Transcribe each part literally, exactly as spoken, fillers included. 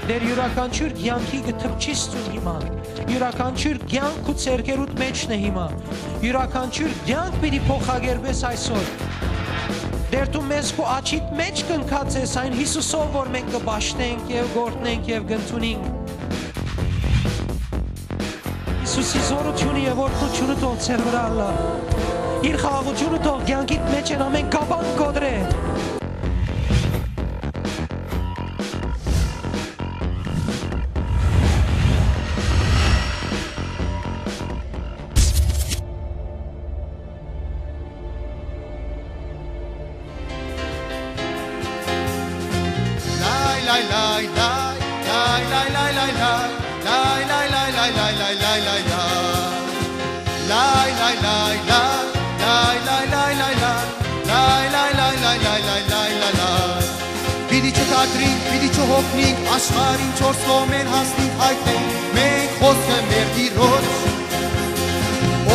Տէր, իւրաքանչիւր կեանքի կը թփչիս դուն հիմա։ Իւրաքանչիւր կեանք քու ձեռքերուդ մէջն է հիմա։ Իւրաքանչիւր կեանք պիտի փոխակերպես այսօր։ Տէր, դու մեզ քու աջիդ մէջ կնքած ես այն Յիսուսով, որ մենք կը պաշտենք եւ գործենք եւ կ'ընդունենք։ Յիսուսի զօրութիւնը եւ օրհնութիւնը թող ձեր վրայ ըլլայ։ Իր խաղաղութիւնը թող կեանքիդ մէջ են ամէն կապան կոտրէ։ Պիտի չթատրինք, պիտի չհոգնինք, աշխարհին չորս կողմէն հասնինք, յայտնենք մենք խօսքը մեր Տիրոջ։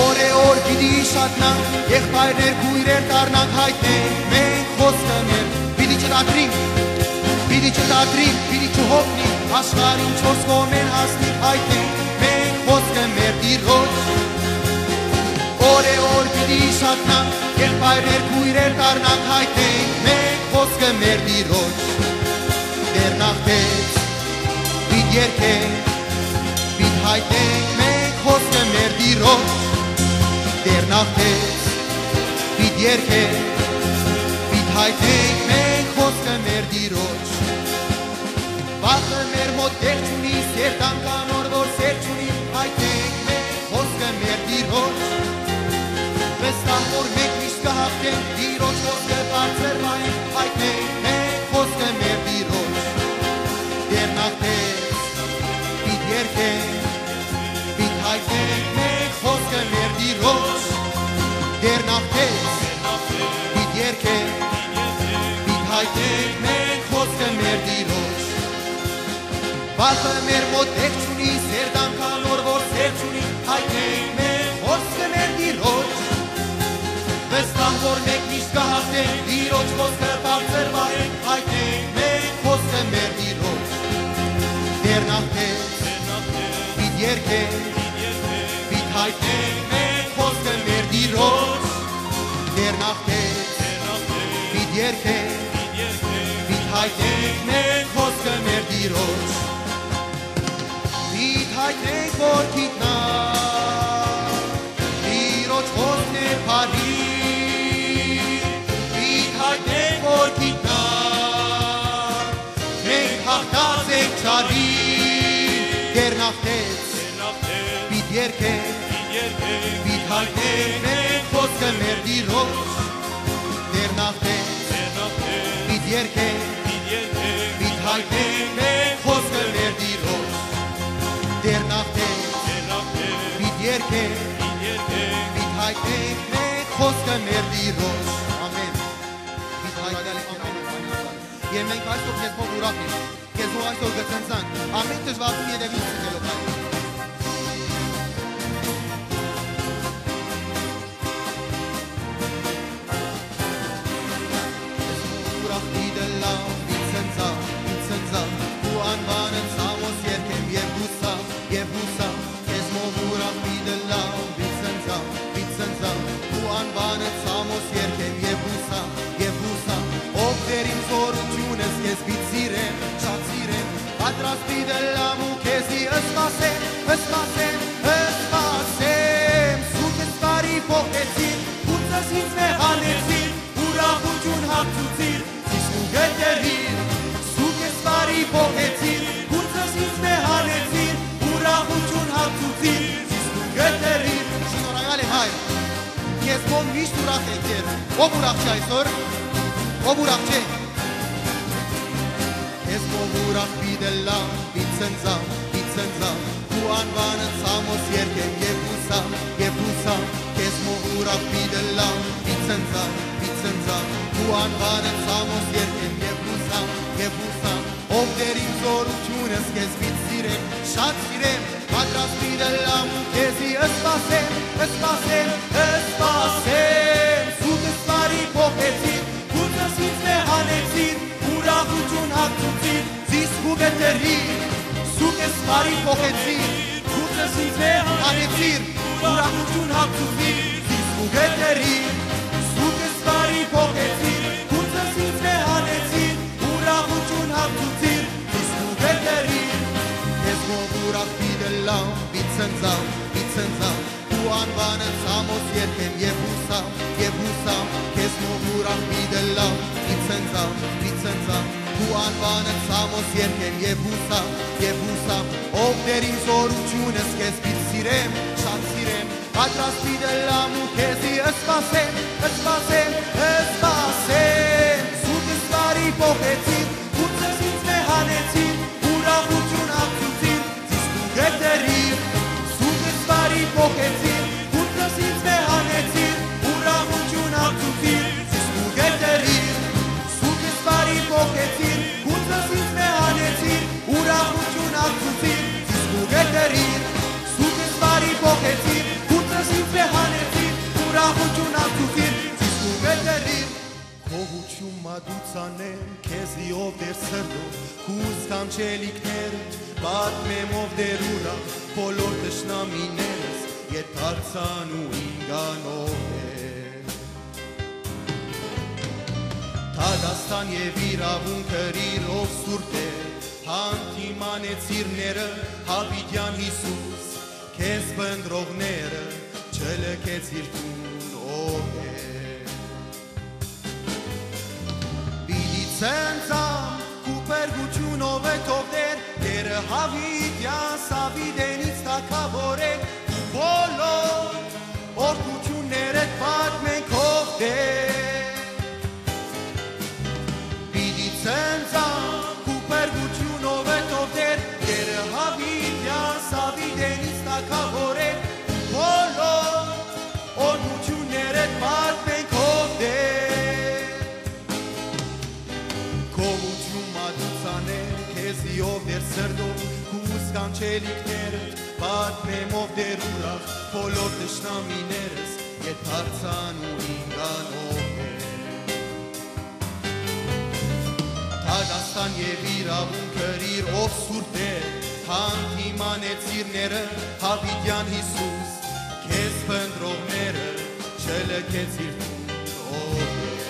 Օրէ օր պիտի իշատնանք, եղբայրներ, քոյրեր դառնանք, յայտնենք մենք խօսքը մեր, պիտի չթատրինք, պիտի չթատրինք, պիտի չհոգնինք, աշխարհին չորս կողմէն հասնինք, յայտնենք մենք խօսքը մեր Տիրոջ։ Օրէ օր պիտի իշատնանք, եղբայրներ, քոյրեր դառնանք, յայտնենք մենք խօսքը մեր Տիրոջ։ Տերն աղթեց, պիտ երգենք, պիտ յայտնենք մենք խօսքը մեր Տիրոջ։ Տերն աղթեց, պիտ երգենք, պիտ յայտնենք մենք խօսքը մեր Տիրոջ։ Վախը մեր մոտ տեղ չունի, սերտանք անոր, որ սեր չունի, յայտնենք մենք խօսքը մեր Տիրոջ։ Վստահ որ մենք միշտ կը հաղթենք, Տիրոջ խօսքը բարձր պահենք, յայտնենք մենք խօսքը մեր Տիրոջ։ Տերն աղթեց, պիտ երգենք, պիտ յայտնենք մենք խօսքը մեր Տիրոջ։ Տերն աղթեց, պիտ երգենք, պիտ յայտնենք մենք խօսքը մեր Տիրոջ։ Վախը մեր մոտ տեղ չունի, սերտանք անոր, որ սեր չունի, յայտնենք մենք խօսքը մեր Տիրոջ։ Վստահ որ մենք միշտ կը հաղթենք, Տիրոջ խօսքը բարձր պահենք, յայտնենք մենք խօսքը մեր Տիրոջ։ Տերն աղթեց, պիտ երգենք, պիտ յայտնենք մենք խօսքը մեր Տիրոջ։ Տերն աղթեց, պիտ երգենք, պիտ յայտնենք մենք խօսքը մեր Տիրոջ։ Պիտ յայտնենք որ գիտնա, Տիրոջ խօսքն է բարի, պիտ յայտնենք որ գիտնա, մենք հաղթած ենք չարի։ Տերն աղթեց, պիտ երգենք, պիտ յայտնենք մենք խօսքը մեր Տիրոջ։ Տերն աղթեց, պիտ երգենք, պիտ յայտնենք մենք խօսքը մեր Տիրոջ։ Տերն աղթեց, պիտ երգենք, պիտ յայտնենք մենք խօսքը մեր Տիրոջ։ Ամեն։ Պիտ յայտնենք, ամեն։ Եւ մենք այսօր քեզմով ուրախ ենք։ Քեզմով այսօր կը ցնծանք, ամէն դժուարութիւն ետեւից ցնցելով, հայր։ Քեզմով ուրախ պիտի լաւ, պիտի ցնծամ, պիտի ցնծամ, քու անուանդ Սամոս երգեմ եւ յուսամ, եւ յուսամ, քեզմով ուրախ պիտի լաւ, պիտի ցնծամ, պիտի ցնծամ, քու անուանդ Սամոս երգեմ եւ յուսամ, եւ յուսամ, ով Տեր իմ զօրութիւնս, քեզ պիտի սիրեմ, շատ սիրեմ, պատրաստ պիտի լամ ու քեզի սպասեմ, սպասեմ, սպասեմ, սուրբ սպարի փոխեցին, գունձս ինձ մե հանեցին, ուրախութիւն հագցուցիր, զիս ու գետերիր, սուրբ սպարի փոխեցին, գունձս ինձ մե հանեցին, ուրախութիւն հագցուցիր, զիս ու գետերիր։ Շնորհակալ եմ, հայր, քեզմով միշտ ուրախ է, Տեր, ով ուրախ չէ այսօր, ով ուրախ չէ։ Քեզմով ուրախ պիտի լամ, պիտի ցնծամ, պիտի ցնծամ, քու անուանդ Սամոս երգեմ եւ յուսամ, եւ յուսամ, քեզմով ուրախ պիտի լամ, պիտի ցնծամ, պիտի ցնծամ, քու անուանդ Սամոս երգեմ եւ յուսամ, եւ յուսամ, ով Տեր իմ զօրութիւնս, քեզ պիտի սիրեմ, շատ սիրեմ, պատրաստ պիտի լամ ու քեզի սպասեմ, սպասեմ, սպասեմ, սուրբ սպարի փոխեցին, գունձս ինձ մե հանեցին, ուրախութիւն հագցուցիր, զիս ու գետերիր, Ես բարի փոխեցիր, գուցե ինձ մե հանեցիր, ուրախութիւն հագցուցիր, զիս կու կետերիր։ Սուկս բարի փոխեցիր, գուցե ինձ մե հանեցիր, ուրախութիւն հագցուցիր, զիս կու կետերիր։ Քեզմով ուրախ պիտի լամ, պիտի ցնծամ, պիտի ցնծամ, քու անուանդ Սամոս երգեմ եւ յուսամ, եւ յուսամ, քեզմով ուրախ պիտի լամ, պիտի ցնծամ, պիտի ցնծամ, քու անուանդ Սամոս երգեմ եւ յուսամ, եւ յուսամ, ով Տեր իմ զօրութիւնս, քեզ պիտի սիրեմ, շատ սիրեմ, պատրաստ պիտի լամ ու քեզի սպասեմ, սպասեմ, սպասեմ։ Սուտս բարի փոխեցիր, գուցե ինձ մե հանեցիր, ուրախութիւն հագցուցիր, զիս կու կետերիր։ Սուտս բարի փոխեցիր, գուցե ինձ մե հանեցիր, ուրախութիւն հագցուցիր, զիս կու կետերիր։ Սուտս բարի փոխեցիր, գուցե ինձ մե հանեցիր, ուրախութիւն հագցուցիր, զիս կու կետերիր։ Սուտս բարի փոխեցիր, գուցե ինձ մե հանեցիր, ուրախութիւն հագցուցիր, զիս կու կետերիր։ Քովութիւն մատուցանեմ քեզի, ով Տեր սրտով, քու սքանչելիքներդ պատմեմ, ով Տեր ուրախ, բոլոր թշնամիներս ետ դարձան ու ինքանով է։ Դատաստան եւ իրաւունք կրիր, ով Սուրբ Տեր, հանդիմանեցիր ները, յաւիտեան Յիսուս, քեզ փնտռողները չլքեցիր դուն, ով է։ Պիտի ցնծամ քու փրկութիւնով, ով Տեր, Տերը յաւիտեան Սաւիտենից թագաւորէ, ու բոլոր օրհնութիւններդ պատմենք, ով Տեր։ Պիտի ցնծամ քու փրկութիւնով, ով Տեր, Տերը յաւիտեան Սաւիտենից թագաւորէ, ու բոլոր օրհնութիւններդ պատմենք, ով Տեր։ Գովութիւն մատուցանեմ քեզի, ով Տեր, սրտով, քու սքանչելիքներդ պատմեմ, ով Տեր, ուրախ, բոլոր թշնամիներս ետ դարձան ու ինքանով է։ Դատաստան եւ իրաւունք կրիր, ով Սուրբ Տեր, հանդիմանեցիր ները, յաւիտեան Յիսուս, քեզ փնտռողները չլքեցիր դուն, ով Տեր։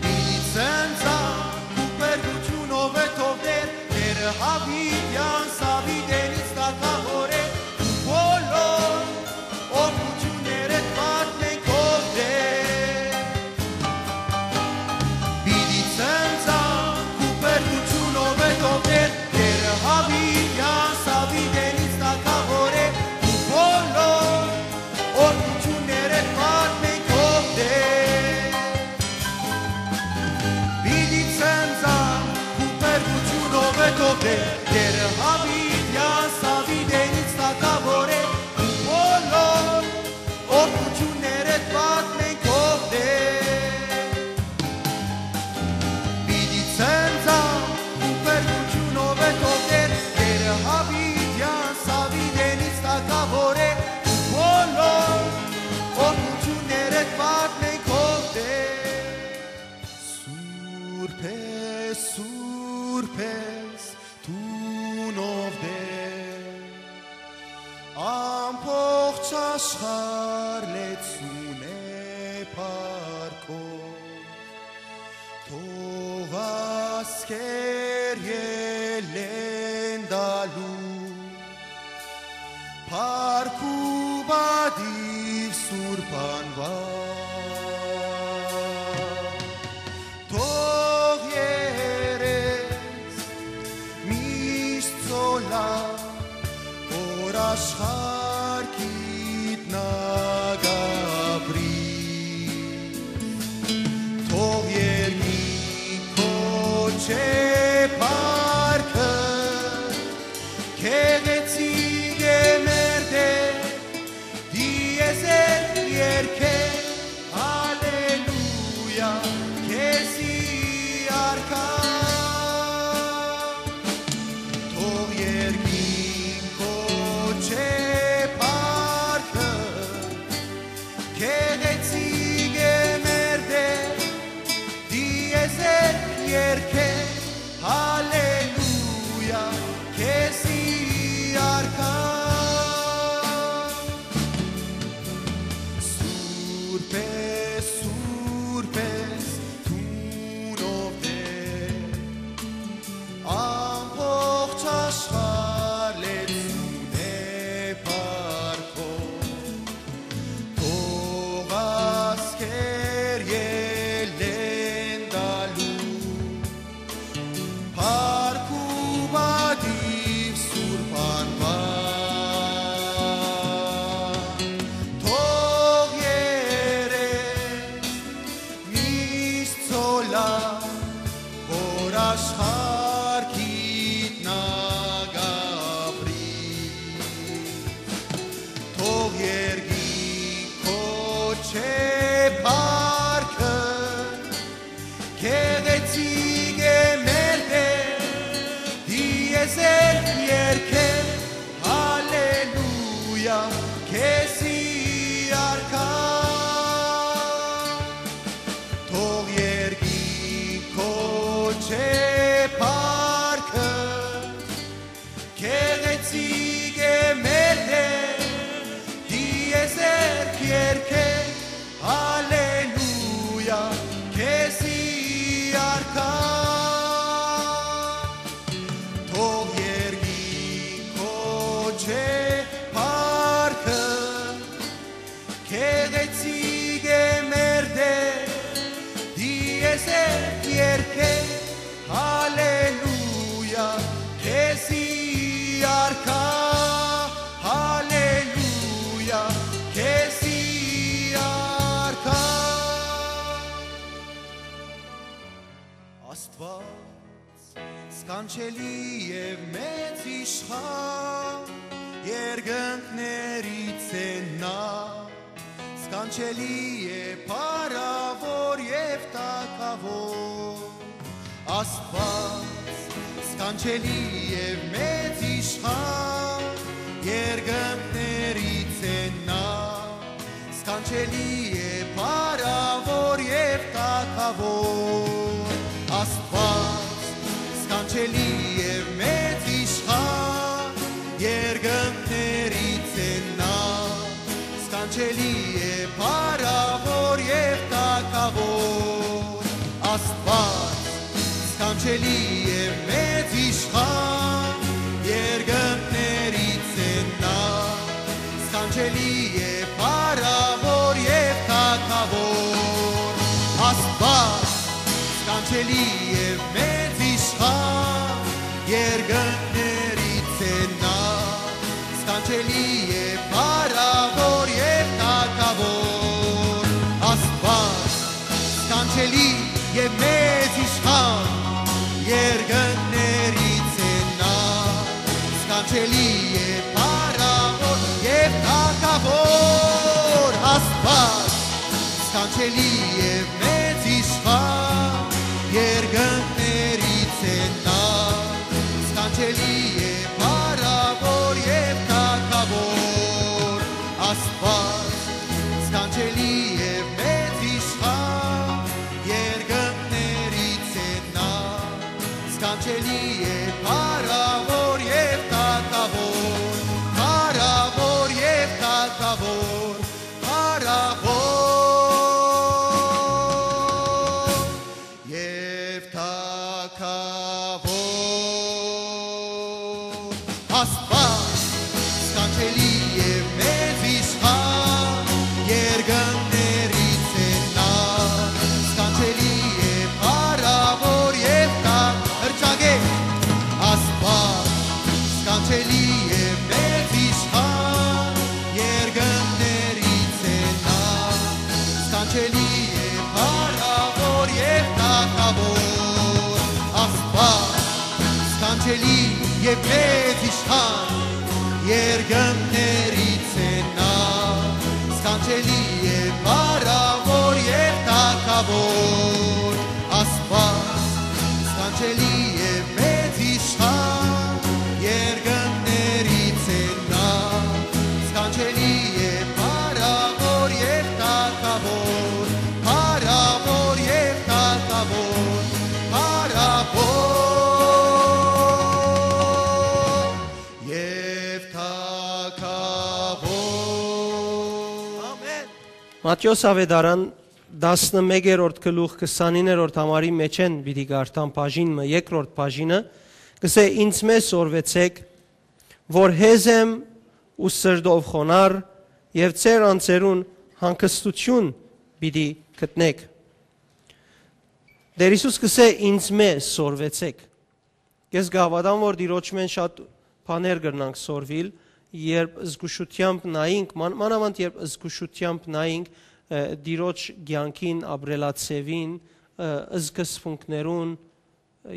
Պիտի ցնծամ քու փրկութիւնով, ով Տեր, Տերը յաւիտեան Սաւիտենից թագաւորէ, ու բոլոր օրհնութիւններդ պատմենք, ով Տեր։ Պիտի ցնծամ քու փրկութիւնով, ով Տեր, Տերը յաւիտեան Սաւիտենից թագաւորէ, ու բոլոր օրհնութիւններդ պատմենք, ով Տեր։ Պիտի ցնծամ քու փրկութիւնով, ով Տեր, Տերը յաւիտեան Սաւիտենից թագաւորէ, ու բոլոր օրհնութիւններդ պատմենք, ով Տեր։ Պիտի ցնծամ քու փրկութիւնով, ով Տեր, Տերը յաւիտեան Սաւիտենից թագաւորէ, ու բոլոր օրհնութիւններդ պատմենք, ով Տեր։ Սուրբ ես, սուրբ ես դուն, ով Տեր, ամբողջ աշխարհ լեցուն է փառքով, թող ազգեր ելլեն տալու փառք ու պատիւ սուրբ անուան։ Թող երես միշտ ցոլայ, որ աշխարհ գիտնակ ապրի։ Թող երկինք կոչէ փառքը, գեղեցիկ է մեր Տեր, դիեզերք երգէ, հալելույա, քեզի արքա։ Թող երկինք կոչէ Սքանչելի եւ մեծ իշխան, երկնքներիցէն ա, սքանչելի է փառաւոր եւ թագաւոր, Աստուած, սքանչելի եւ մեծ իշխան, երկնքներիցէն ա, սքանչելի է փառաւոր եւ թագաւոր, Աստուած, սքանչելի եւ մեծ իշխան, երկնքներիցէն ա, սքանչելի է փառաւոր եւ թագաւոր, Աստուած, սքանչելի եւ մեծ իշխան, երկնքներիցէն ա, սքանչելի է փառաւոր եւ թագաւոր, Աստուած, սքանչելի եւ մեծ իշխան, երկնքներիցէն ա, սքանչելի է փառաւոր եւ թագաւոր, Աստուած, սքանչելի եւ մեծ իշխան, երկնքներիցէն ա, սքանչելի է փառաւոր եւ թագաւոր, Աստուած, սքանչելի եւ մեծ իշխան, երկնքներիցէն ա, սքանչելի է փառաւոր եւ թագաւոր, Աստուած, սքանչելի եւ մեծ իշխան, երկնքներիցէն ա, սքանչելի է փառաւոր եւ թագաւոր, փառաւոր եւ թագաւոր, փառաւոր եւ թագաւոր, Աստուած, սքանչելի եւ մեծ իշխան, երկնքներիցէն ա, սքանչելի է փառաւոր եւ թագ-, հրճակէ, Աստուած, սքանչելի եւ մեծ իշխան, երկնքներիցէն ա, սքանչելի է փառաւոր եւ թագաւոր, Աստուած, սքանչելի եւ մեծ իշխան, երկնքներիցէն ա, սքանչելի է փառաւոր եւ թագաւոր, Աստուած, սքանչելի եւ մեծ իշխան, երկնքներիցէն ա, սքանչելի է փառաւոր եւ թագաւոր, փառաւոր եւ թագաւոր, փառաւոր եւ թագաւոր։ Ամեն։ Մատթէոս Աւետարան տասնմեկերորդ գլուխ քսանիններորդ համարի մէջէն պիտի կարդամ բաժին մը, երկրորդ բաժինը, կսէ. «Ինձմէ սորվեցէք, որ հեզ եմ ու սրտով խոնար, եւ ձեր անձերուն հանգստութիւն պիտի գտնէք»։ Տէր Յիսուս կսէ. «Ինձմէ սորվեցէք»։ Ես կհաւատամ, որ Տիրոջմէն շատ բաներ կրնանք սորվիլ, երբ զգուշութեամբ նայինք, ման-, մանաւանդ երբ զգուշութեամբ նայինք, ը, Տիրոջ կեանքին, ապրելաձեւին, ը, սկզբունքներուն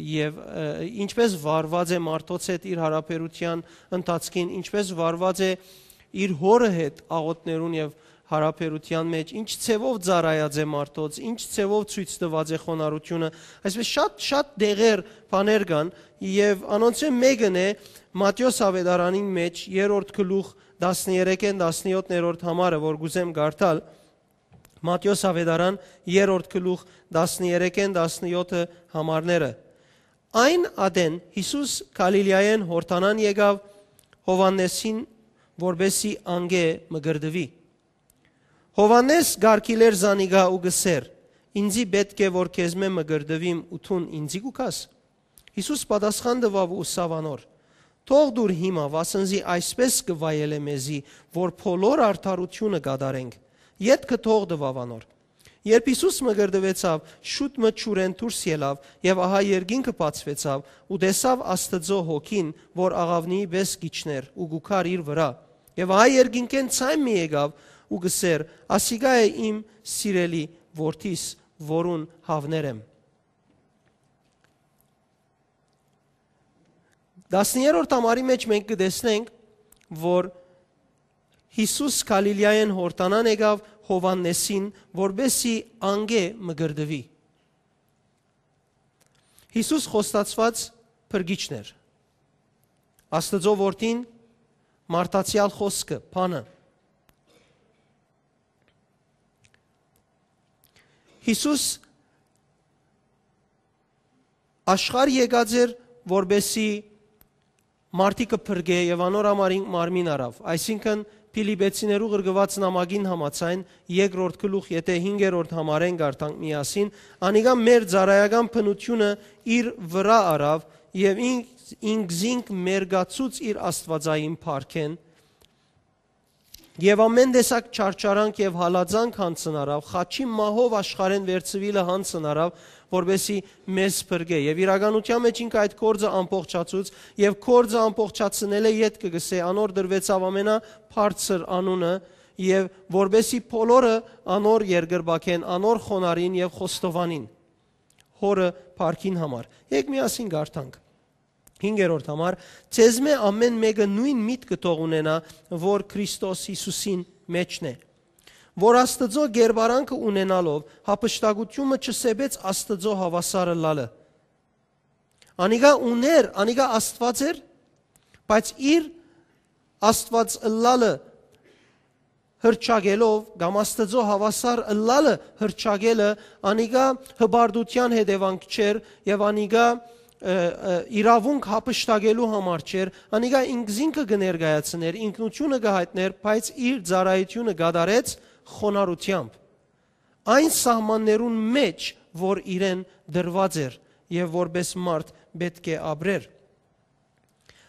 եւ, ը, ինչպես վարուած է մարդոց հետ իր յարաբերութեան ընթացքին, ինչպես վարուած է իր հօրը հետ աղօթքներուն եւ յարաբերութեան մէջ, ինչ ձեւով ծառայած է մարդոց, ինչ ձեւով ցոյց տուած է խոնարհութիւնը, այսպես շատ, շատ դեղեր, բաներ կան, եւ անոնցէն մէկն է Մատթէոս Աւետարանին մէջ, երրորդ գլուխ, տասներեքէն տասնեօթերորդ համարը, որ կ'ուզեմ կարդալ, Մատթէոս Աւետարան, երրորդ գլուխ, տասներեքէն տասնեօթը համարները։ Այն ատեն Յիսուս Գալիլիայէն Յորդանան եկաւ Յովհաննէսին, որպէսզի անկէ մկրտուի։ Յովհաննէս կ'արգիլէր զանիկա ու կ'ըսէր. «Ինծի պէտք է որ քեզմէ մկրտուիմ ու դուն ինծի՞ կու գաս»։ Յիսուս պատասխան տուաւ ու ըսաւ անոր. «Թող տուր հիմա, վասնզի այսպէս կը վայելէ մեզի, որ բոլոր արդարութիւնը կատարենք»։ Ետքը թող տուաւ անոր։ Երբ Յիսուս մկրտուեցաւ, շուտ մը ջուրէն դուրս ելաւ, եւ ահա երկինքը բացուեցաւ, ու տեսաւ Աստուծոյ հոգին, որ աղաւնիի պէս կ'իջնէր ու կու գար իր վրայ։ Եւ ահա երկինքէն ձայն մը եկաւ ու կ'ըսէր. «Ասիկա է իմ սիրելի որդիս, որուն հաւներ եմ»։ Տասներորդ համարի մէջ մենք կը տեսնենք, որ Յիսուս Գալիլիայէն Յորդանան եկաւ Յովհաննէսին, որպեսզի անկէ մկրտուի։ Յիսուս խոստացուած փրկիչն էր։ Աստուծոյ Որդին մարդացեալ խօսքը, բանը։ Յիսուս աշխարհ եկած էր, որպեսզի մարդիկը փրկէ եւ անոր համար ինք մարմին առաւ։ Այսինքն, Փիլիպեցիներու ղրկուած նամակին համաձայն, երկրորդ գլուխ, եթէ հինգերորդ համարէն կարդանք միասին, անիկա մեր ծառայական բնութիւնը իր վրայ առաւ եւ ինք, ինքզինք մերկացուց իր աստուածային փառքէն, եւ ամէն տեսակ չարչարանք եւ հալածանք յանցն առաւ, խաչի մահով աշխարհէն վերցուիլը յանցն առաւ, որպեսզի մեզ փրկէ։ Եւ իրականութեան մէջ ինք այդ գործը ամբողջացուց, եւ գործը ամբողջացնելէ ետքը կ'ըսէ, անոր տրուեցաւ ամենաբարձր անունը, եւ որպեսզի բոլորը անոր երկրպագեն, անոր խոնարհին եւ խոստովանին Հօրը փառքին համար։ Եկեք միասին կարդանք։ Հինգերորդ համար, ձեզմէ ամէն մէկը նոյն միտքը թող ունենայ, որ Քրիստոս Յիսուսին մէջն է, որ Աստուծոյ կերպարանքը ունենալով, յափշտակութիւնը չսեպեց Աստուծոյ հաւասար ըլլալը։ Անիկա ունէր, անիկա Աստուած էր, բայց իր Աստուած ըլլալը հրճակելով կամ Աստուծոյ հաւասար ըլլալը հրճակելը, անիկա հպարտութեան հետեւանք չէր եւ անիկա, ը, ը, իրաւունք յափշտակելու համար չէր, անիկա ինքզինքը կը ներկայացնէր, ինքնութիւնը կը յայտնէր, բայց իր ծառայութիւնը կատարեց խոնարհութեամբ, այն սահմաններուն մէջ, որ իրեն տրուած էր եւ որպէս մարդ պէտք է ապրեր։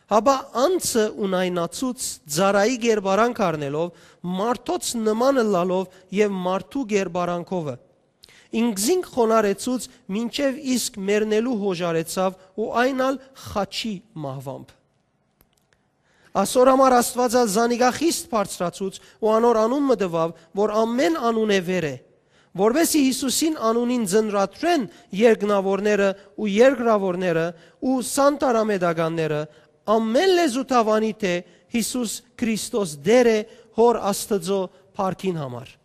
Հապա անձը ունայնացուց, ծառայի կերպարանք առնելով, մարդոց նման ըլլալով եւ մարդու կերպարանքովը։ Ինքզինք խոնարհեցուց, մինչեւ իսկ մեռնելու յօժարեցաւ ու այն ալ խաչի մահուամբ։ Ասոր համար Աստուած ալ զանիկա խիստ բարձրացուց ու անոր անուն մը տուաւ, որ ամէն անունէ վեր է, որպէս զի Յիսուսին անունին ծնրադրեն երկնաւորները ու երկրաւորները ու սանտարամետականները, ամէն լեզու դաւանի թէ Յիսուս Քրիստոս Տէր է Հօր Աստուծոյ փառքին համար։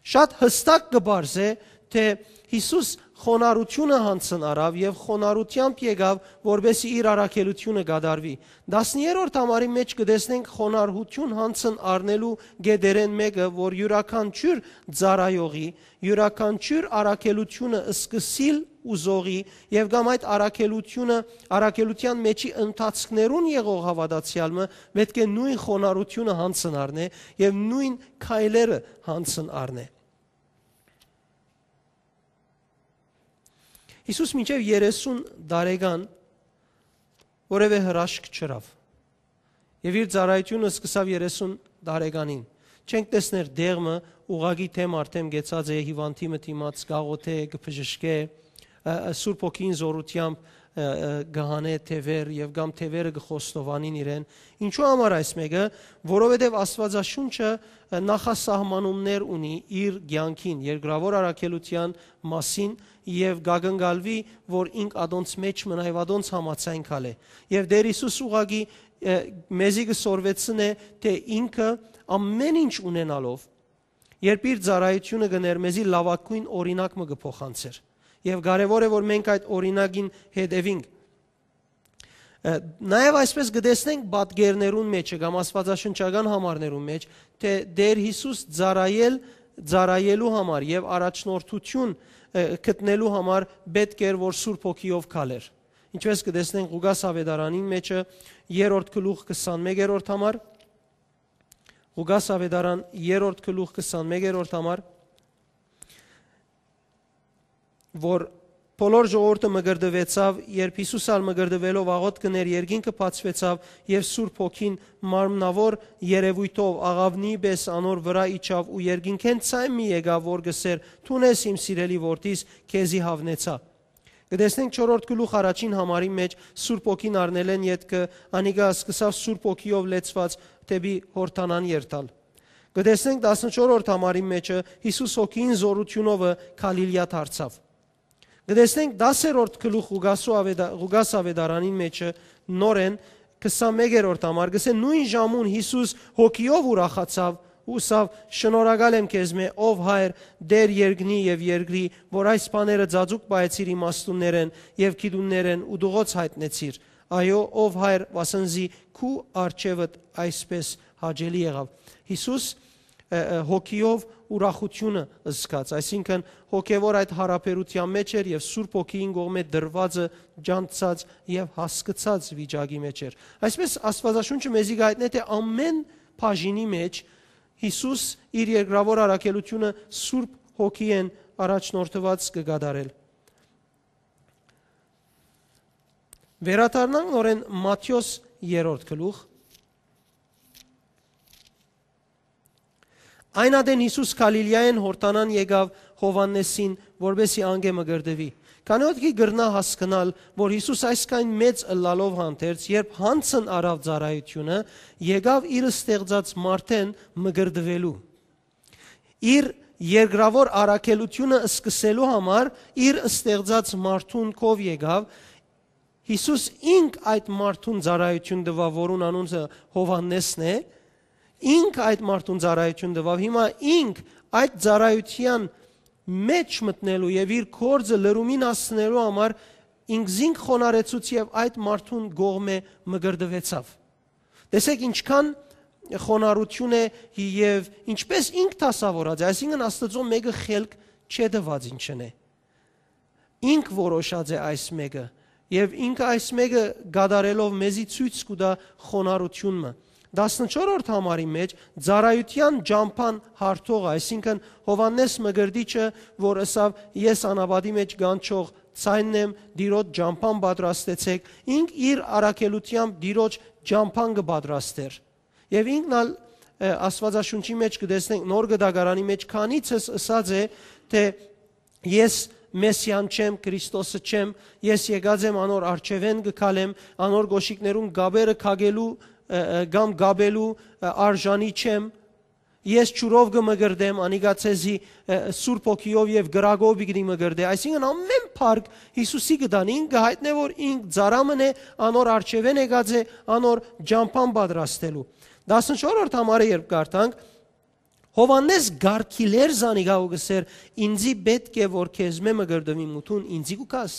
Շատ յստակ կը պարզէ թէ Յիսուս խոնարհութիւնը յանցն առաւ եւ խոնարհութեամբ եկաւ, որպէս զի իր առաքելութիւնը կատարուի։ Տասներորդ համարի մէջ կը տեսնենք խոնարհութիւն յանցն առնելու կետերէն մէկը, որ իւրաքանչիւր ծառայողի, իւրաքանչիւր առաքելութիւնը սկսիլ ուզողի եւ կամ այդ առաքելութիւնը, առաքելութեան մէջի ընթացքներուն եղող հաւատացեալ մը պէտք է նոյն խոնարհութիւնը յանցն առնէ եւ նոյն քայլերը յանցն առնէ։ Յիսուս մինչեւ երեսուն տարեկան որեւէ հրաշք չըրաւ։ Եւ իր ծառայութիւնը սկսաւ երեսուն տարեկանին։ Չենք տեսներ դեղ մը ուղղակի դէմ առ դէմ գեցած է, հիւանդի մը դիմաց կաղոթէ, կը բժշկէ, ը, ը, Սուրբ Հոգին զօրութեամբ, ը, ը, կը հանէ թեւեր եւ կամ թեւերը կը խոստովանին իրեն։ Ինչու համար այս մէկը, որովհետեւ Աստուածաշունչը, ը, նախասահմանումներ ունի իր կեանքին, երկրաւոր առաքելութեան մասին եւ կակնկալուի, որ ինք ատոնց մէջ մնայ, ատոնց համաձայն քալէ։ Եւ Տէր Յիսուս ուղղակի, ը, մեզի կը սորվեցնէ, թէ ինքը ամէն ինչ ունենալով, երբ իր ծառայութիւնը կ'ընէր, մեզի լաւագոյն օրինակ մը կը փոխանցէր։ Եւ կարեւոր է, որ մենք այդ օրինակին հետեւինք։ Ը, նաեւ այսպես կը տեսնենք պատկերներուն մէջը կամ աստուածաշնչական համարներուն մէջ, թէ Տէր Յիսուս ծառայել, ծառայելու համար եւ առաջնորդութիւն, ը, գտնելու համար պէտք էր, որ Սուրբ Հոգիով քալէր։ Ինչպես կը տեսնենք Ղուկաս Աւետարանին մէջը, երրորդ գլուխ, քսանմեկերորդ համար, Ղուկաս Աւետարան, երրորդ գլուխ, քսանմեկերորդ համար, որ բոլոր ժողովուրդը մկրտուեցաւ, երբ Յիսուս ալ մկրտուելով աղօթք կ'ընէր, երկինքը բացուեցաւ եւ Սուրբ Հոգին մարմնաւոր երեւոյթով աղաւնի պէս անոր վրայ իջաւ ու երկինքէն ձայն մը եկաւ, որ կ'ըսէր. «Դուն ես իմ սիրելի որդիս, քեզի յաւնեցայ»։ Կը տեսնենք չորրորդ գլուխ, առաջին համարի մէջ Սուրբ Հոգին առնելէն ետքը անիկա սկսաւ Սուրբ Հոգիով լեցուած դէպի Յորդանան երթալ։ Կը տեսնենք տասնչորրորդ համարի մէջը Յիսուս Հոգին զօրութիւնովը Գալիլիա դարձաւ։ Կը տեսնենք դասերորդ գլուխ Ղուկասու ավետա-, Ղուկաս ավետարանին մէջը նորէն քսանմէկերորդ համար, կսէ նոյն ժամուն Յիսուս հոգիով ուրախացաւ ու ըսաւ. «Շնորհակալ եմ քեզմէ, ով Հայր, Տէր երկնի եւ երկրի, որ այս բաները ձաձուկ պահեցիր իմաստուններէն եւ գիտուններէն ու դուղոց յայտնեցիր։ Այո, ով Հայր, վասն զի քու արջեւդ այսպէս հաճելի եղաւ»։ Յիսուս, ը, ը, հոգիով ուրախութիւնը զգաց, այսինքն հոգեւոր այդ յարաբերութեան մէջ էր եւ Սուրբ Հոգիին կողմէ տրուածը ճանչցած եւ հասկցած վիճակի մէջ էր։ Այսպէս Աստուածաշունչը մեզի կ'այտնէ, թէ ամէն բաժինի մէջ Յիսուս իր երկրաւոր առաքելութիւնը Սուրբ Հոգիէն առաջնորդուած կը կատարէր։ Վերադառնանք նորէն Մատթէոս երրորդ գլուխ։ Այն ատեն Յիսուս Գալիլիայէն Յորդանան եկաւ Յովհաննէսին, որպէս զի անկէ մկրտուի։ Քանի՞ յետք կրնայ հասկնալ, որ Յիսուս այսքան մեծ ըլլալով հանդերձ, երբ յանցն առաւ ծառայութիւնը, եկաւ իր ստեղծած մարդէն մկրտուելու։ Իր երկրաւոր առաքելութիւնը սկսելու համար իր ստեղծած մարդուն քով եկաւ։ Յիսուս ինք այդ մարդուն ծառայութիւն տուաւ, որուն անունը Յովհաննէսն է։ Ինք այդ մարդուն ծառայութիւն տուաւ։ Հիմա ինք այդ ծառայութեան մէջ մտնելու եւ իր գործը լրումին հասցնելու համար ինքզինք խոնարհեցուց եւ այդ մարդուն կողմէ մկրտուեցաւ։ Տեսեք, ինչքան խոնարհութիւն է եւ ինչպես ինք դասաւորած է, այսինքն Աստուծոյ մէկը խելք չէ տուած ինչն է։ Ինք որոշած է այս մէկը եւ ինքը այս մէկը կատարելով մեզի ցոյց կու տայ խոնարհութիւն մը։ Տասնչորրորդ համարի մէջ ծառայութեան ճամբան հարթողը, այսինքն Յովհաննէս Մկրտիչը, որ ըսաւ. «Ես անապատի մէջ կանչող ձայնն եմ, Տիրոջ ճամբան պատրաստեցէք», ինք իր առաքելութեամբ Տիրոջ ճամբան կը պատրաստէր։ Եւ ինքն ալ, ը, Աստուածաշունչի մէջ կը տեսնենք, Նոր Կտակարանի մէջ քանիցս ըսած է, թէ «Ես Մեսիան չեմ, Քրիստոսը չեմ, ես եկած եմ անոր առջեւէն կը քալեմ, անոր կոշիկներուն կապերը քակելու, ը, ը, կամ կապելու, ը, արժանի չեմ, ես ջուրով կը մկրտեմ, անիկա ձեզի, ը, Սուրբ Հոգիով եւ կրակով պիտի մկրտէ»։ Այսինքն ամէն փառք Յիսուսի կը տան, ինք կը յայտնէ, որ ինք ծառայ մըն է, անոր առջեւէն եկած է, անոր ճամբան պատրաստելու։ Տասնչորրորդ համարը երբ կարդանք, Յովհաննէս կ'արգիլէր զանիկա ու կ'ըսէր. «Ինծի պէտք է որ քեզմէ մկրտուի, մութուն ինծի կու գաս»։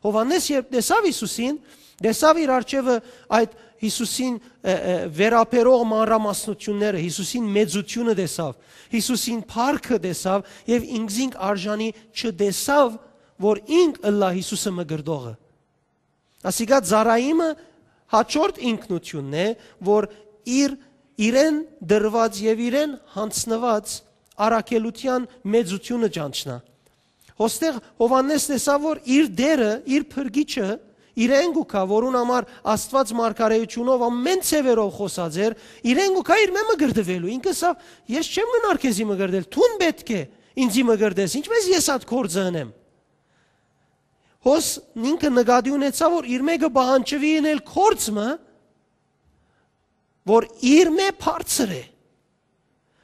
Յովհաննէս երբ տեսաւ Յիսուսին, տեսաւ իր առջեւը այդ Յիսուսին, ը, ը, վերաբերող մանրամասնութիւնները, Յիսուսին մեծութիւնը տեսաւ, Յիսուսին փառքը տեսաւ եւ ինքզինք արժանի չտեսաւ, որ ինք ըլլայ Յիսուսը մկրտողը։ Ասիկա ծառայիմը հաջորդ ինքնութիւնն է, որ իր, իրեն դրուած եւ իրեն յանձնուած առաքելութեան մեծութիւնը ճանչնայ։ Ոստեղ Յովհաննէս տեսաւ, որ իր Տէրը, իր Փրկիչը, իրեն կու գայ, որուն համար Աստուած մարգարէութիւնով ամէն ձեւերով խօսած էր, իրեն կու գայ իրմէ մկրտուելու։ Ինքը ըսաւ. «Ես չեմ գնար քեզի մկրտել, դուն պէտք է ինծի մկրտես, ինչպէս ես այդ գործը ընեմ»։ Հոս ինքը նկատի ունեցաւ, որ իրմէ կը պահանջուի ընել գործ մը, որ իրմէ բարձր է։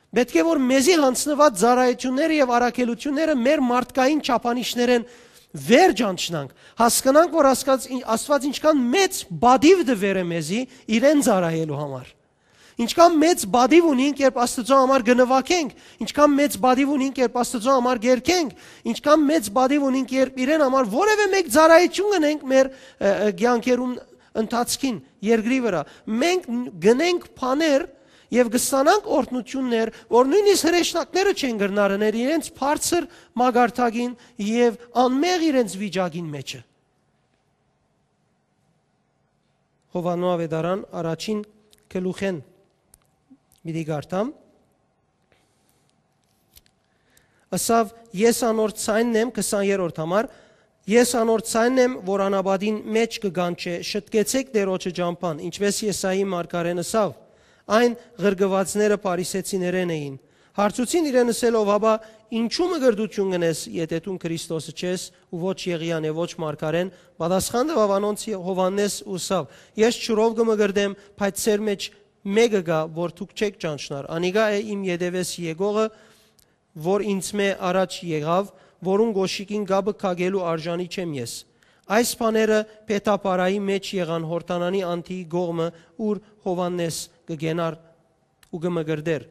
Պէտք է որ մեզի յանձնուած ծառայութիւնները եւ առաքելութիւնները մեր մարդկային չափանիշներէն վեր ճանչնանք, հասկնանք, որ Աստուած, Աստուած ինչքան մեծ պատիւ տուեր է մեզի իրեն ծառայելու համար։ Ինչքան մեծ պատիվ ունինք, երբ Աստուծոյ համար կը նուագենք, ինչքան մեծ պատիվ ունինք, երբ Աստուծոյ համար կերգենք, ինչքան մեծ պատիվ ունինք, երբ իրեն համար որևէ մէկ ծառայութիւն կ'ընենք մեր, ը, ը, կեանքերուն ընթացքին երկրի վրայ։ Մենք գնենք բաներ եւ կստանանք օրհնութիւններ, որ նոյնիսկ հրեշնակները չեն կրնար ընել իրենց բարձր մակարդակին եւ անմեղ իրենց վիճակին մէջը։ Յովհաննու Ավետարան առաջին գլուխէն պիտի կարդամ։ Ըսաւ. «Ես անոր ձայնն եմ», քսաներորդ համար, «ես անոր ձայնն եմ, որ անապատին մէջ կը կանչէ. շտկեցէք Տիրոջը ճամբան», ինչպէս Եսայի մարգարէն ըսաւ. «Այն ղրկուածները փարիսեցիներէն էին»։ Հարցուցին իրեն ըսելով. «Աբա ինչու մկրտութիւն կ'ընես, եթէ դուն Քրիստոսը չես, ու ոչ Եղիան եւ ոչ մարգարէն»։ Պատասխան տուաւ անոնց Յովհաննէս ու ըսաւ. «Ես ջուրով կը մկրտեմ, բայց ձեր մէջ մէկը կայ, որ դուք չէք ճանչնար։ Անիկա է իմ ետեւէս եկողը, որ ինծմէ առաջ եղաւ, որուն կոշիկին կապը քակելու արժանի չեմ ես։ Այս բաները Փեթապարայի մէջ եղան Յորդանանի անդիի կողմը, ուր Յովհաննէս կը կենար ու կը մկրտէր։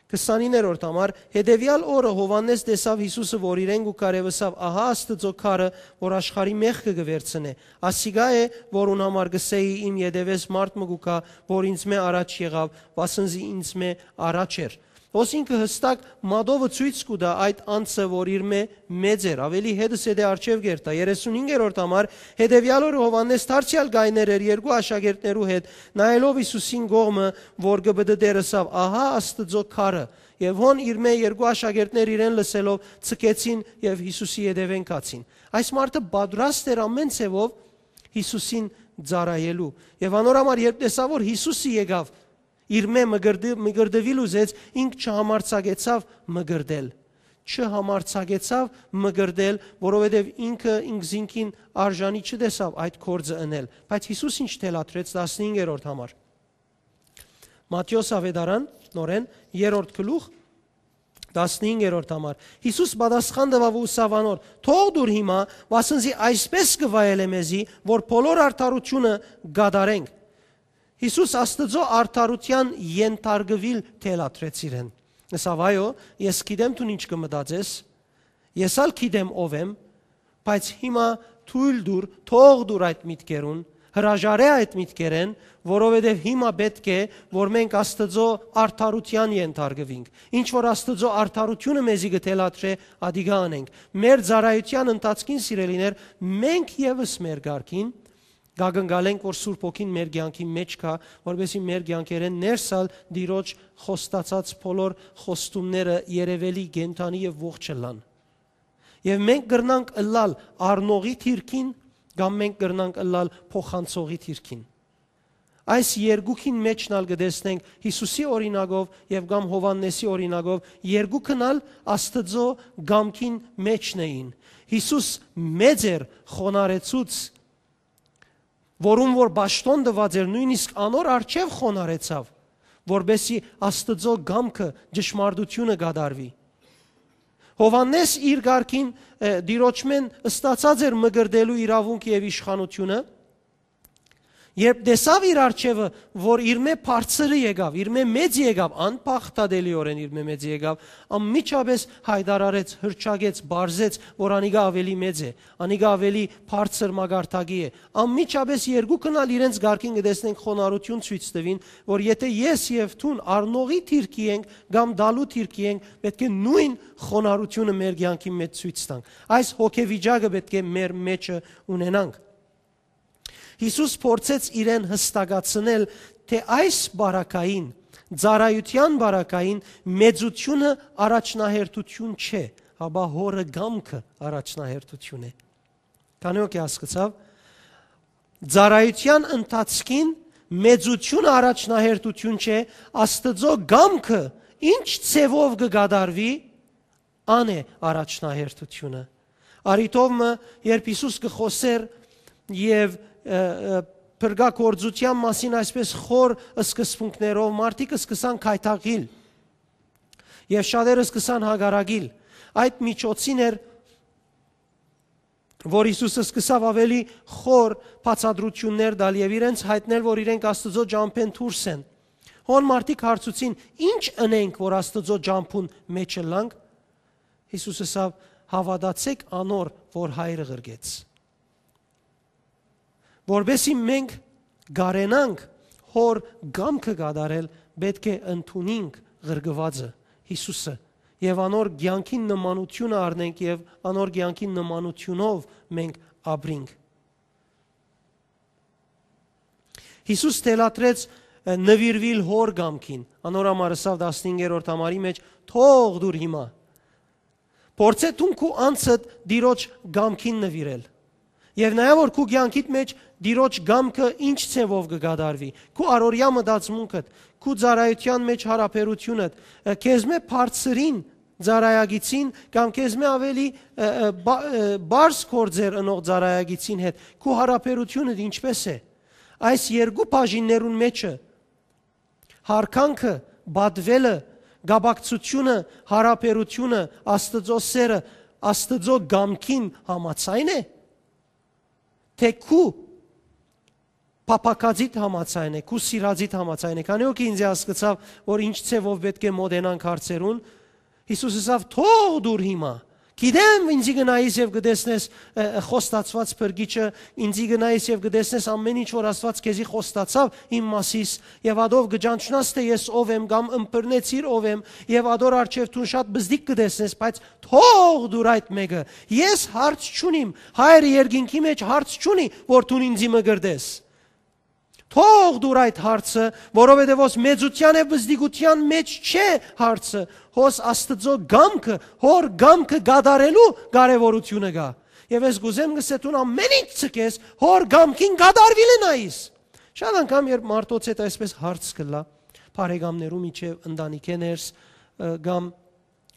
Քսանիններորդ համար, հետեւեալ օրը Յովհաննէս տեսաւ Յիսուսը, որ իրեն կու քարէ, ըսաւ. «Ահա Աստուծոյ քարը, որ աշխարհի մեղքը կը վերցնէ։ Ասիկա է, որուն համար կ'ըսէի. "Իմ ետեւէս մարդ մը կու գայ, որ ինծմէ առաջ եղաւ, վասն զի ինծմէ առաջ էր"»»։ Հոս ինքը յստակ մատովը ցոյց կու տայ այդ անձը, որ իրմէ մեծ էր, աւելի հետզհետէ արջեւ կ'երթայ։ Երեսունհինգերորդ համար, հետեւեալ օրը Յովհաննէս դարձեալ կայներ էր երկու աշակերտներու հետ, նայելով Յիսուսին կողմը, որ կը պտտէր, ըսաւ. "Ահա Աստուծոյ քարը"։ Եւ հոն իրմէ երկու աշակերտներ իրեն լսելով՝ ձգեցին եւ Յիսուսի ետեւէն գացին։ Այս մարդը պատրաստ էր ամէն ձեւով Յիսուսին ծառայելու։ Եւ անոր համար, երբ տեսաւ, որ Յիսուսը եկաւ, իրմէ մկրտի-, մկրտուիլ ուզեց, ինք չհամարձակեցաւ մկրտել։ Չհամարձակեցաւ մկրտել, որովհետեւ ինքը ինքզինքին արժանի չտեսաւ այդ գործը ընել։ Բայց Յիսուս ինչ թելադրեց, տասնհինգերորդ համար։ Մատթէոս Աւետարան, նորէն, երրորդ գլուխ, տասնհինգերորդ համար։ Յիսուս պատասխան տուաւ ու ըսաւ անոր. "Թող դուր հիմա, վասն զի այսպէս կը վայելէ մեզի, որ բոլոր արդարութիւնը կատարենք"։ Յիսուս Աստուծոյ արդարութեան ենթարկուիլ թելադրեց իրեն։ Ըսաւ. "Այո, ես գիտեմ դուն ինչ կը մտածես, ես ալ գիտեմ ով եմ, բայց հիմա թոյլ տուր, թող տուր այդ միտքերուն, հրաժարէ այդ միտքերէն, որովհետեւ հիմա պէտք է, որ մենք Աստուծոյ արդարութեան ենթարկուինք։ Ինչ որ Աստուծոյ արդարութիւնը մեզի կը թելադրէ, ադիկա ընենք։ Մեր ծառայութեան ընթացքին, սիրելիներ, մենք եւս մեր կարգին կակնկալենք, որ Սուրբ Հոգին մեր կեանքին մէջ գայ, որպեսզի մեր կեանքերէն ներս ալ Տիրոջ խոստացած բոլոր խոստումները երեւելի, կենդանի եւ ողջ ըլլան։ Եւ մենք կրնանք ըլլալ առնողի դիրքին, կամ մենք կրնանք ըլլալ փոխանցողի դիրքին։ Այս երկուքին մէջն ալ կը տեսնենք Յիսուսի օրինակով եւ կամ Յովհաննէսի օրինակով, երկուքն ալ Աստուծոյ կամքին մէջն էին։ Յիսուս մեծ էր, խոնարհեցուց, որուն որ պաշտօն տուած էր, նոյնիսկ անոր առջեւ խոնարհեցաւ, որպեսզի Աստուծոյ կամքը, ճշմարտութիւնը կատարուի։ Յովհաննէս իր կարգին, ը, Տիրոջմէն ստացած էր մկրտելու իրաւունքը եւ իշխանութիւնը, երբ տեսաւ իր առջեւը, որ իրմէ բարձրը եկաւ, իրմէ մեծ եկաւ, անփախտատելիօրէն իրմէ մեծ եկաւ, անմիջապէս յայտարարեց, հռչակեց, պարզեց, որ անիկա աւելի մեծ է, անիկա աւելի բարձր մակարդակի է։ Անմիջապէս երկուքն ալ իրենց կարգին կը տեսնենք խոնարհութիւն ցոյց տուին, որ եթէ ես եւ դուն առնողի դիրքի ենք կամ տալու դիրքի ենք, պէտք է նոյն խոնարհութիւնը մեր կեանքին մէջ ցոյց տանք։ Այս հոգեվիճակը պէտք է մեր մէջը ունենանք։ Յիսուս փորձեց իրեն յստակացնել, թէ այս բարակային, ծառայութեան բարակային մեծութիւնը առաջնահերթութիւն չէ, հապա Հօրը կամքը առաջնահերթութիւն է։ Քանի՞ հոգի հասկցաւ, ծառայութեան ընթացքին մեծութիւնը առաջնահերթութիւն չէ, Աստուծոյ կամքը ինչ ձեւով կը կատարուի, ան է առաջնահերթութիւնը։ Առիթով մը, երբ Յիսուս կը խօսէր եւ, ը, ը, փրկագործութեան մասին այսպես խոր սկզբունքներով, մարդիկ սկսան գայթակղիլ եւ շատերը սկսան հակառակիլ։ Այդ միջոցին էր, որ Յիսուս սկսաւ աւելի խոր բացատրութիւններ տալ եւ իրենց յայտնել, որ իրենք Աստուծոյ ճամբէն դուրս են։ Հոն մարդիկ հարցուցին. "Ի՞նչ ընենք, որ Աստուծոյ ճամբուն մէջ ըլլանք"։ Յիսուս ըսաւ. "Հաւատացէք անոր, որ Հայրը ղրկեց"։ Որպեսզի մենք կարենանք Հօր կամքը կատարել, պէտք է ընդունինք ղրկուածը, Յիսուսը, եւ անոր կեանքին նմանութիւնը առնենք եւ անոր կեանքին նմանութիւնով մենք ապրինք։ Յիսուս թելադրեց, ը, նուիրուիլ Հօր կամքին, անոր համար ըսաւ տասնհինգերորդ համարի մէջ. "Թող դուր հիմա"։ Փորձէ դուն քու անձդ Տիրոջ կամքին նուիրել։ Եւ նաեւ որ քու կեանքիդ մէջ Տիրոջ կամքը ինչ ձեւով կը կատարուի, քու առօրեայ մտածմունքդ, քու ծառայութեան մէջ յարաբերութիւնդ, ը, քեզմէ բարձրին ծառայագիցին կամ քեզմէ աւելի, ը, ը, բա-, ը, բարձ գործեր ընող ծառայագիցին հետ, քու յարաբերութիւնդ ինչպէս է։ Այս երկու բաժիններուն մէջը Յարգանքը, պատուելը, կապակցութիւնը, յարաբերութիւնը, Աստուծոյ սէրը, Աստուծոյ կամքին համաձայն է, թէ քու փափաքածիդ համաձայն է, քու սիրածիդ համաձայն է։ Քանի՞ հոգի ինծի հասկցաւ, որ ինչ ձեւով պէտք է մօտենանք հարցերուն, Յիսուս ըսաւ. «Թող դուր հիմա։ Գիտեմ, ինծի գնայիս եւ կտեսնես, ը, ը, խոստացուած փրկիչը, ինծի գնայիս եւ կտեսնես ամէն ինչ որ Աստուած քեզի խոստացաւ իմ մասիս, եւ ադով կճանչնաս թէ ես ով եմ կամ ըմբռնեցիր ով եմ, եւ ադոր առջեւ դուն շատ բզդիկ կտեսնես, բայց թող դուր այդ մէկը։ Ես հարց չունիմ, Հայրը երկինքի մէջ հարց չունի, որ դուն ինծի մկրտես։ Թող դուր այդ հարցը, որովհետեւ հոս մեծութեան եւ բզդիկութեան մէջ չէ հարցը, հոս Աստուծոյ կամքը, հօր կամքը կատարելու կարեւորութիւնը կայ։ Եւ ես կ'ուզեմ գսե դուն ամէն ինչ ցկես, հօր կամքին կատարուիլը նայիս»։ Շատ անգամ, երբ մարդոց հետ այսպես հարց կ'ըլլայ, բարեկամներու միջեւ, ընտանիքէ ներս, ը, կամ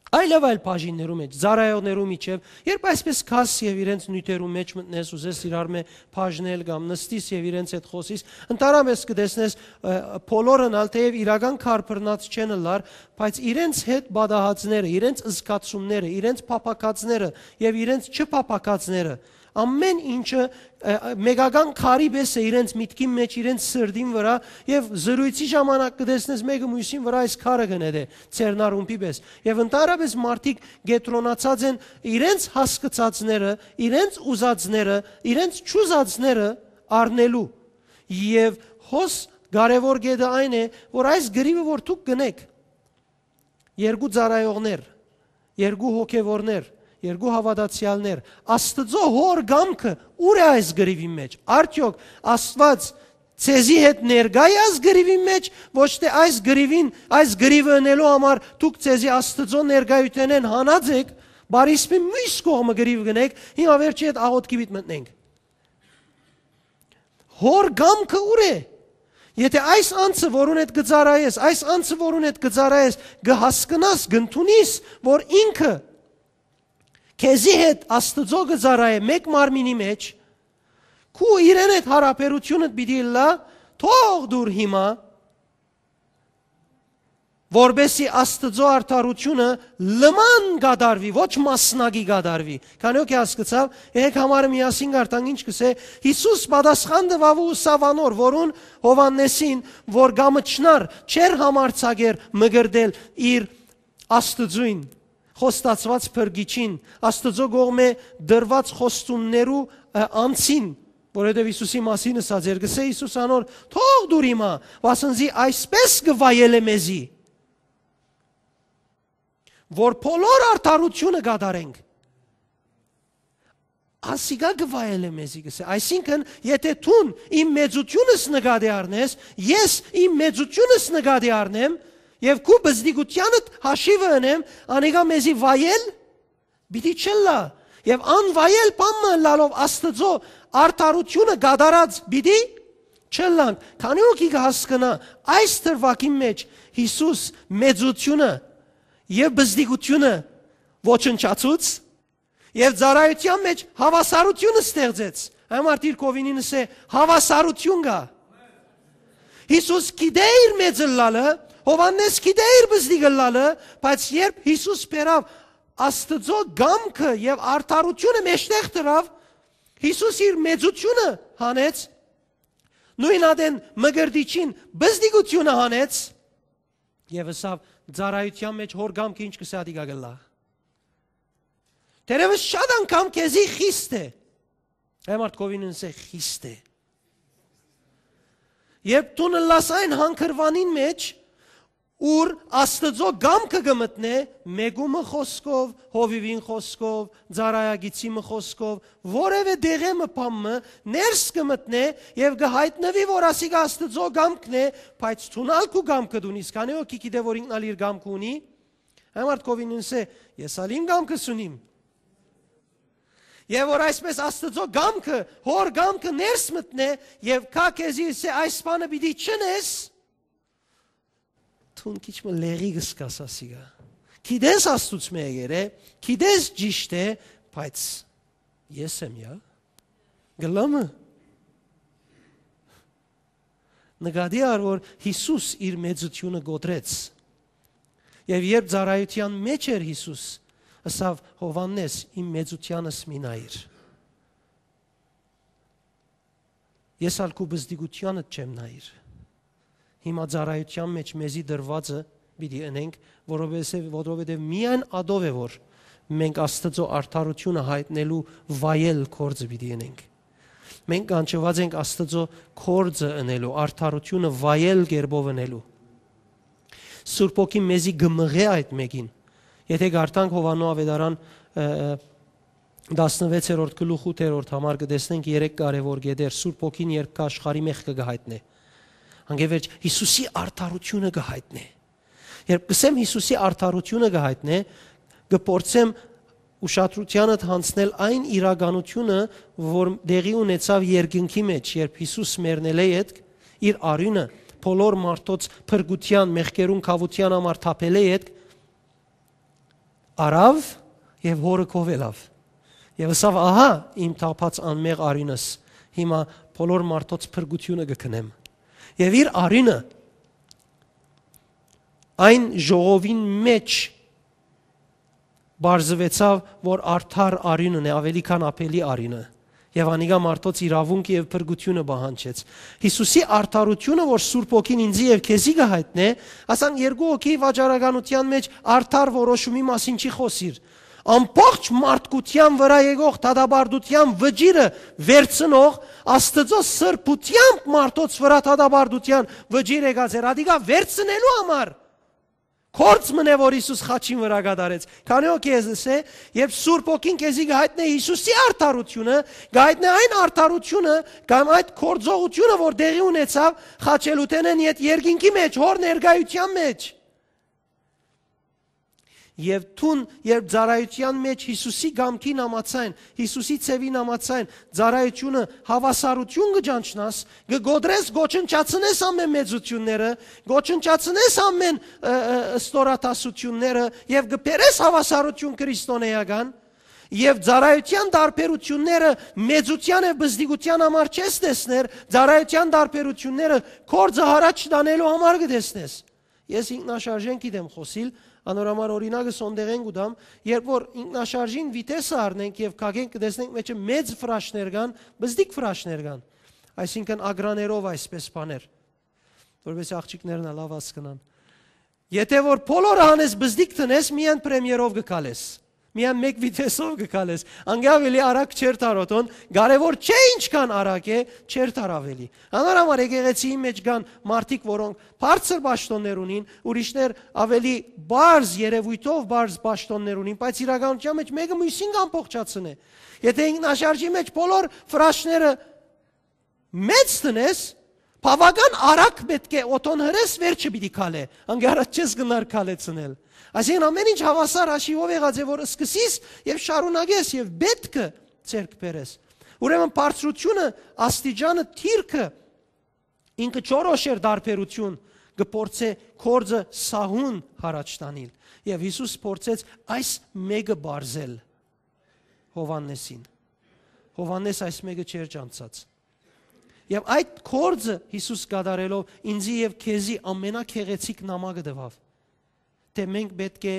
այլեւայլ բաժիններու մէջ, ծառայողներու միջեւ, երբ այսպես գաս եւ իրենց նիւթերու մէջ մտնես, ուզես իրար մէ բաժնել կամ նստիս եւ իրենց հետ խօսիս, ընդհանրապէս կը տեսնես, ը, բոլորն ալ, թէեւ իրական քարբռնած չեն ըլլար, բայց իրենց հետ պատահածները, իրենց զգացումները, իրենց փափաքածները եւ իրենց չփափաքածները, ամէն ինչը, ը, մեկական քարի պէս է իրենց միտքին մէջ, իրենց սրտին վրայ, եւ զրոյցի ժամանակ կը տեսնես մէկը մոյսին վրայ այս քարը կը նետէ, ձեռնարումբի պէս։ Եւ ընդհանրապէս մարդիկ կեդրոնացած են իրենց հասկցածները, իրենց ուզածները, իրենց չուզածները առնելու։ Եւ հոս կարեւոր կետը այն է, որ այս կռիվը, որ դուք կ'ընէք, երկու ծառայողներ, երկու հոգեվորներ, երկու հաւատացեալներ, Աստուծոյ հօր կամքը ո՞ւր է այս կռիվին մէջ։ Արդեօք Աստուած ձեզի հետ ներկա՞ է այս կռիվին մէջ, ոչ թէ այս կռիվին, այս կռիվը ընելու համար դուք ձեզի Աստուծոյ ներկայութենէն հանած էք, բարիսպին միւս կողմը կռիվ կ'ընէք, հիմա վերջի հետ աղօթքի պիտ մտնենք։ Հօր կամքը ո՞ւր է։ Եթէ այս անձը, որուն հետ կը ծառայես, այս անձը, որուն հետ կը ծառայես, կը հասկնաս, կ'ընդունիս, որ ինքը քեզի հետ Աստուծոյ կը ծառայէ մէկ մարմինի մէջ, քու իրեն հետ յարաբերութիւնդ պիտի ըլլայ, թող դուր հիմա, որպէսզի Աստուծոյ արդարութիւնը լման կատարուի, ոչ մասնակի կատարուի։ Քանի՞ հոգի հասկցաւ, եկեք համարը միասին կարդանք, ինչ կ'ըսէ. «Յիսուս պատասխան տուաւ ու ըսաւ անոր, որուն, Յովհաննէսին, որ կ'ամչնար, չէր համարձակեր մկրտել իր Աստուծոյն, խոստացուած փրկիչին, Աստուծոյ կողմէ տրուած խոստումներու, ը, անձին», որովհետեւ Յիսուսի մասին ըսած էր, կ'ըսէ Յիսուս անոր. «Թող դուր հիմա, վասն զի այսպես կը վայելէ մեզի, որ բոլոր արդարութիւնը կատարենք»։ Ասիկա կը վայելէ մեզի, կ'ըսէ։ Այսինքն, եթէ դուն իմ մեծութիւնս նկատի առնես, ես իմ մեծութիւնս նկատի առնեմ, եւ քու բզդիկութեանդ հաշիվը ընեմ, անիկա մեզի վայել պիտի չըլլայ, եւ անվայել բան մը ըլլալով Աստուծոյ արդարութիւնը կատարած պիտի չըլլանք։ Քանի՞ հոգի կը հասկնայ, այս դրուագին մէջ Յիսուս մեծութիւնը եւ բզդիկութիւնը ոչնչացուց, եւ ծառայութեան մէջ հաւասարութիւնը ստեղծեց։ Այն մարդը իր կովինին ըսէ. «Հաւասարութիւն կայ»։ Յիսուս գիտէ իր մեծ ըլլալը, Յովհաննէս գիտէ իր բզդիկ ըլլալը, բայց երբ Յիսուս բերաւ Աստուծոյ կամքը եւ արդարութիւնը մէջտեղ դրաւ, Յիսուս իր մեծութիւնը հանեց, նոյն ատեն մկրտիչին բզդիկութիւնը հանեց, եւ ըսաւ. «Ծառայութեան մէջ հօր կամքը ինչ կ'ըսէ, ատիկա կ'ըլլայ»։ Թերեւս շատ անգամ քեզի խիստ է։ Այն մարդ կովինին ըսէ. «Խիստ է»։ Երբ դուն ըլլաս այն հանգրուանին մէջ, ուր Աստուծոյ կամքը կը մտնէ, մեկու մը խօսքով, հովիւին խօսքով, ծառայագիծի մը խօսքով, որեւէ դեղէ մը բան մը ներս կը մտնէ եւ կը յայտնուի, որ ասիկա Աստուծոյ կամքն է, բայց դուն ալ քու կամքը դունիս, քանի՞ հոգի գիտէ, որ ինքն ալ իր կամքը ունի։ Այն մարդ կովինին ըսէ. «Ես ալ իմ կամքս ունիմ»։ Եւ որ այսպես Աստուծոյ կամքը, հօր կամքը ներս մտնէ եւ կայ քեզի ըսէ. «Այս բանը պիտի չընես», դուն քիչ մը լեղի կ'զգաս ասիկա։ Գիտես Աստուծմէ եկեր է, գիտես ճիշդ է, բայց ես եմ, յա, կ'ըլլա՞մ։ Նկատի առ, որ Յիսուս իր մեծութիւնը կոտրեց։ Եւ երբ ծառայութեան մէջ էր Յիսուս, Ըսաւ. «Յովհաննէս, իմ մեծութեանս մի նայիր։ Ես ալ քու պզտիկութեանդ չեմ նայիր»։ Հիմա ծառայութեան մէջ մեզի տրուածը պիտի ընենք, որովհետեւ, որովհետեւ միայն ատով է, որ մենք Աստուծոյ արդարութիւնը յայտնելու վայել գործը պիտի ընենք։ Մենք կանչուած ենք Աստուծոյ գործը ընելու, արդարութիւնը վայել կերպով ընելու։ Սուրբ Հոգին մեզի կը մղէ այդ մէկին։ Եթե կարդանք Յովհաննոյ Աւետարան, ը, ը, տասնվեցերորդ գլուխ ութերորդ համար, կը տեսնենք երեք կարեւոր կետեր։ Սուրբ Հոգին երբ կը աշխարհի, մեղքը կը յայտնէ։ Անկէ վերջ Յիսուսի արդարութիւնը կը յայտնէ։ Երբ կ'ըսեմ Յիսուսի արդարութիւնը կը յայտնէ, կը փորձեմ ուշադրութիանդ յանձնել այն իրականութիւնը, որ տեղի ունեցաւ երկնքի մէջ, երբ Յիսուս մեռնելէ ետք, իր արիւնը, բոլոր մարդոց փրկութեան, մեղքերուն քաւութեան համար թափելէ ետք, առաւ եւ Հօրը քով ելաւ։ Եւ ըսաւ. «Ահա իմ թափած անմեղ արիւնս, հիմա բոլոր մարդոց փրկութիւնը կը գնեմ»։ Եւ իր արիւնը այն ժողովին մէջ պարզուեցաւ, որ արդար արիւնն է, աւելի քան աբելի արիւնը։ Եւ անիկա մարդոց իրաւունքը եւ փրկութիւնը պահանջեց։ Յիսուսի արդարութիւնը, որ Սուրբ Հոգին ինծի եւ քեզի կը յայտնէ, ասանք երկու հոգի վաճառականութեան մէջ արդար որոշումի մասին չի խօսիր։ Ամբողջ մարդկութեան վրայ եկող դատապարտութեան վճիռը վերցնող, Աստուծոյ սրբութեամբ մարդոց վրայ դատապարտութեան վճիռ եկած էր, ատիկա վերցնելու համար։ Գործ մըն է, որ Յիսուս խաչին վրայ կատարեց։ Քանի որ քեզս է, երբ Սուրբ Հոգին քեզի կը յայտնէ Յիսուսի արդարութիւնը, կը յայտնէ այն արդարութիւնը կամ այդ գործողութիւնը, որ տեղի ունեցաւ խաչելութենէն յետ երկինքի մէջ, Հօր ներկայութեան մէջ։ Եւ դուն, երբ ծառայութեան մէջ Յիսուսի կամքին համաձայն, Յիսուսի ձեւին համաձայն ծառայութիւնը, հաւասարութիւն կը ճանչնաս, կը կոտրես, կոչնչացնես ամէն մեծութիւնները, կոչնչացնես ամէն, ը, ը, ստորադասութիւնները եւ կը բերես հաւասարութիւն քրիստոնէական, եւ ծառայութեան տարբերութիւնները մեծութեան եւ բզդիկութեան համար չես տեսներ, ծառայութեան տարբերութիւնները գործը յառաջ տանելու համար կը տեսնես։ Ես ինքնաշարժէն գիտեմ խօսիլ, անոր համար օրինակը սոնդեղէն կու տամ, երբ որ ինքնաշարժին վիթեսը առնենք եւ քագենք, կը տեսնենք մէջը մեծ ֆրաշներ կան, բզդիկ ֆրաշներ կան, այսինքն ագրաներով այսպես բաներ, որպեսզի աղջիկներն ալ լաւ հասկնան։ Եթե որ բոլորը հանես, բզդիկ տնես, միայն պրեմիերով կը քալես, միայն մէկ վիթեսով կը քալես, անկէ աւելի արագ չէր տար օթոն, կարեւոր չէ ինչքան արագ է, չէր տար աւելի։ Անոր համար եկեղեցիի մէջ կան մարդիկ, որոնք բարձր պաշտոններ ունին, ուրիշներ աւելի պարզ երեւոյթով պարզ պաշտոններ ունին, բայց իրականության մէջ մէկը միւսին կ'ամբողջացնէ։ Եթե ինքնաշարժի մէջ բոլոր ֆրաշները մեծ տնես, բաւական արագ պէտք է օթոն հրես, վերջը պիտի քալէ, անկէ առաջ չես գնար քալեցնել։ Այսինքն ամէն ինչ հաւասար հաշիվով եղած է, որ սկսիս եւ շարունակես եւ պէտքը ձեռք բերես։ Ուրեմն բարձրութիւնը, աստիճանը, դիրքը ինքը չորոշեր տարբերութիւն, կը փորձէ գործը սահուն յառաջ տանիլ։ Եւ Յիսուս փորձեց այս մէկը պարզել Յովհաննեսին։ Յովհաննես այս մէկը չէր ճանչցած։ Եւ այդ գործը Յիսուս կատարելով ինձի եւ քեզի ամենագեղեցիկ նամակը տուաւ, թէ մենք պէտք է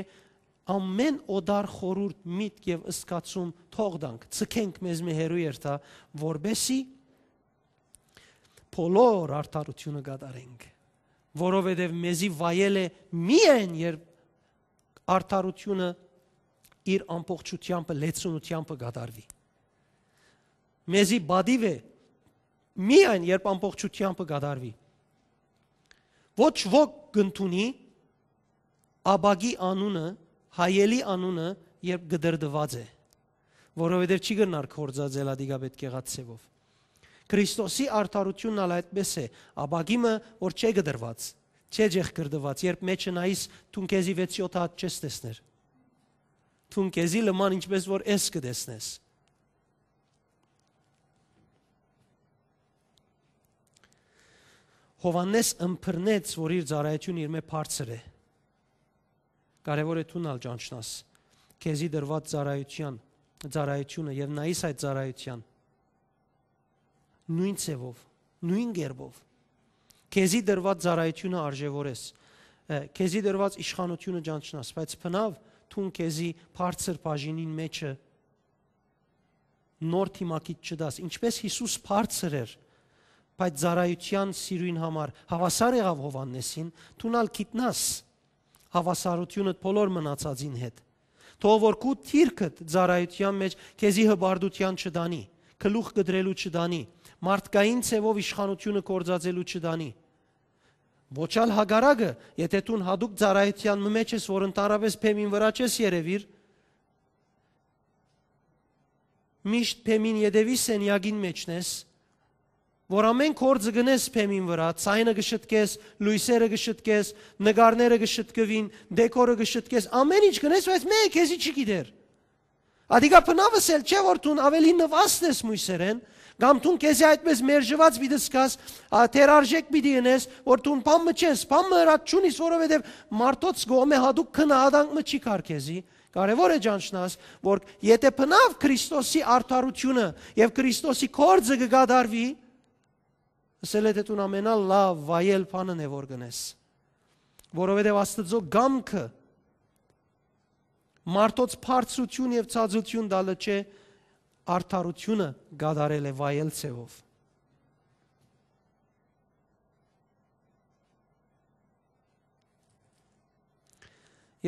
ամէն օտար խորհուրդ, միտք եւ զգացում թող տանք, ձգենք մեզմէ հեռու երթայ, որպեսզի բոլոր արդարութիւնը կատարենք, որովհետեւ մեզի վայել է միայն, երբ արդարութիւնը իր ամբողջութեամբը, լեցունութեամբը կատարուի։ Մեզի պատիւ է միայն, երբ ամբողջութեամբը կատարուի։ Ոչ ոք կ'ընդունի ապակի անունը, հայելի անունը, երբ կտրտուած է, որովհետեւ չի կրնար գործածել ատիկա պէտք եղած ձեւով։ Քրիստոսի արդարութիւնն ալ այդպես է, ապակի մը, որ չէ կտրված, չէ ջեղկրտուած, երբ մէջը նայիս, դուն քեզի վեց-յոթ հատ չես տեսներ։ Դուն քեզի լման ինչպես որ ես կը տեսնես։ Յովհաննես ըմբռնեց, որ իր ծառայութիւնը իրմէ բարձր է։ Կարեւոր է դուն ալ ճանչնաս քեզի տրուած ծառայութեան, ծառայութիւնը եւ նայիս այդ ծառայութեան նոյն ձեւով, նոյն կերպով։ Քեզի տրուած ծառայութիւնը արժեւորես, ը, քեզի տրուած իշխանութիւնը ճանչնաս, բայց բնաւ դուն քեզի բարձր բաժինին մէջը նոր դիմագիծ չտաս։ Ինչպէս Յիսուս բարձր էր, բայց ծառայութեան սիրոյն համար հաւասար եղաւ Յովհաննէսին, դուն ալ գիտնաս հաւասարութիւնդ բոլոր մնացածին հետ։ Թող որ քու դիրքդ ծառայութեան մէջ քեզի հպարտութեան չտանի, գլուխ կտրելու չտանի, մարդկային ձեւով իշխանութիւնը գործածելու չտանի։ Ոչ ալ հակառակը, եթէ դուն յատուկ ծառայութեան մը մէջ ես, որ ընդհանրապէս բեմին վրայ չես երեւիր, միշտ բեմին ետեւի սենեակին մէջն ես, որ ամէն գործը գնես բեմին վրայ, ձայնը կը շտկես, լոյսերը կը շտկես, նկարները կը շտկուին, դեկորը կը շտկես, ամէն ինչ գնես, բայց մէ քեզի չի գիտեր։ Ադիկա բնաւ ըսել չէ, որ դուն աւելի նուազդ ես մոյսերէն, կամ դուն քեզի այդպէս մերժուած պիտի զգաս, ա, թերարժեք պիտի ընես, որ դուն բան մը չես, բան մը ըրած չունիս, որովհետեւ մարդոց կողմէ յատուկ քնահատանք մը չի կար քեզի։ Կարեւոր է ճանչնաս, որ եթէ բնաւ Քրիստոսի արդարութիւնը եւ Քրիստոսի գործը կը կատարուի, ըսել է, թէ դուն ամենալաւ վայել բանն է որ կ'ընես, որովհետեւ Աստուծոյ կամքը մարդոց բարձրութիւն եւ ցածութիւն տալը չէ, արդարութիւնը կատարել է վայել ձեւով։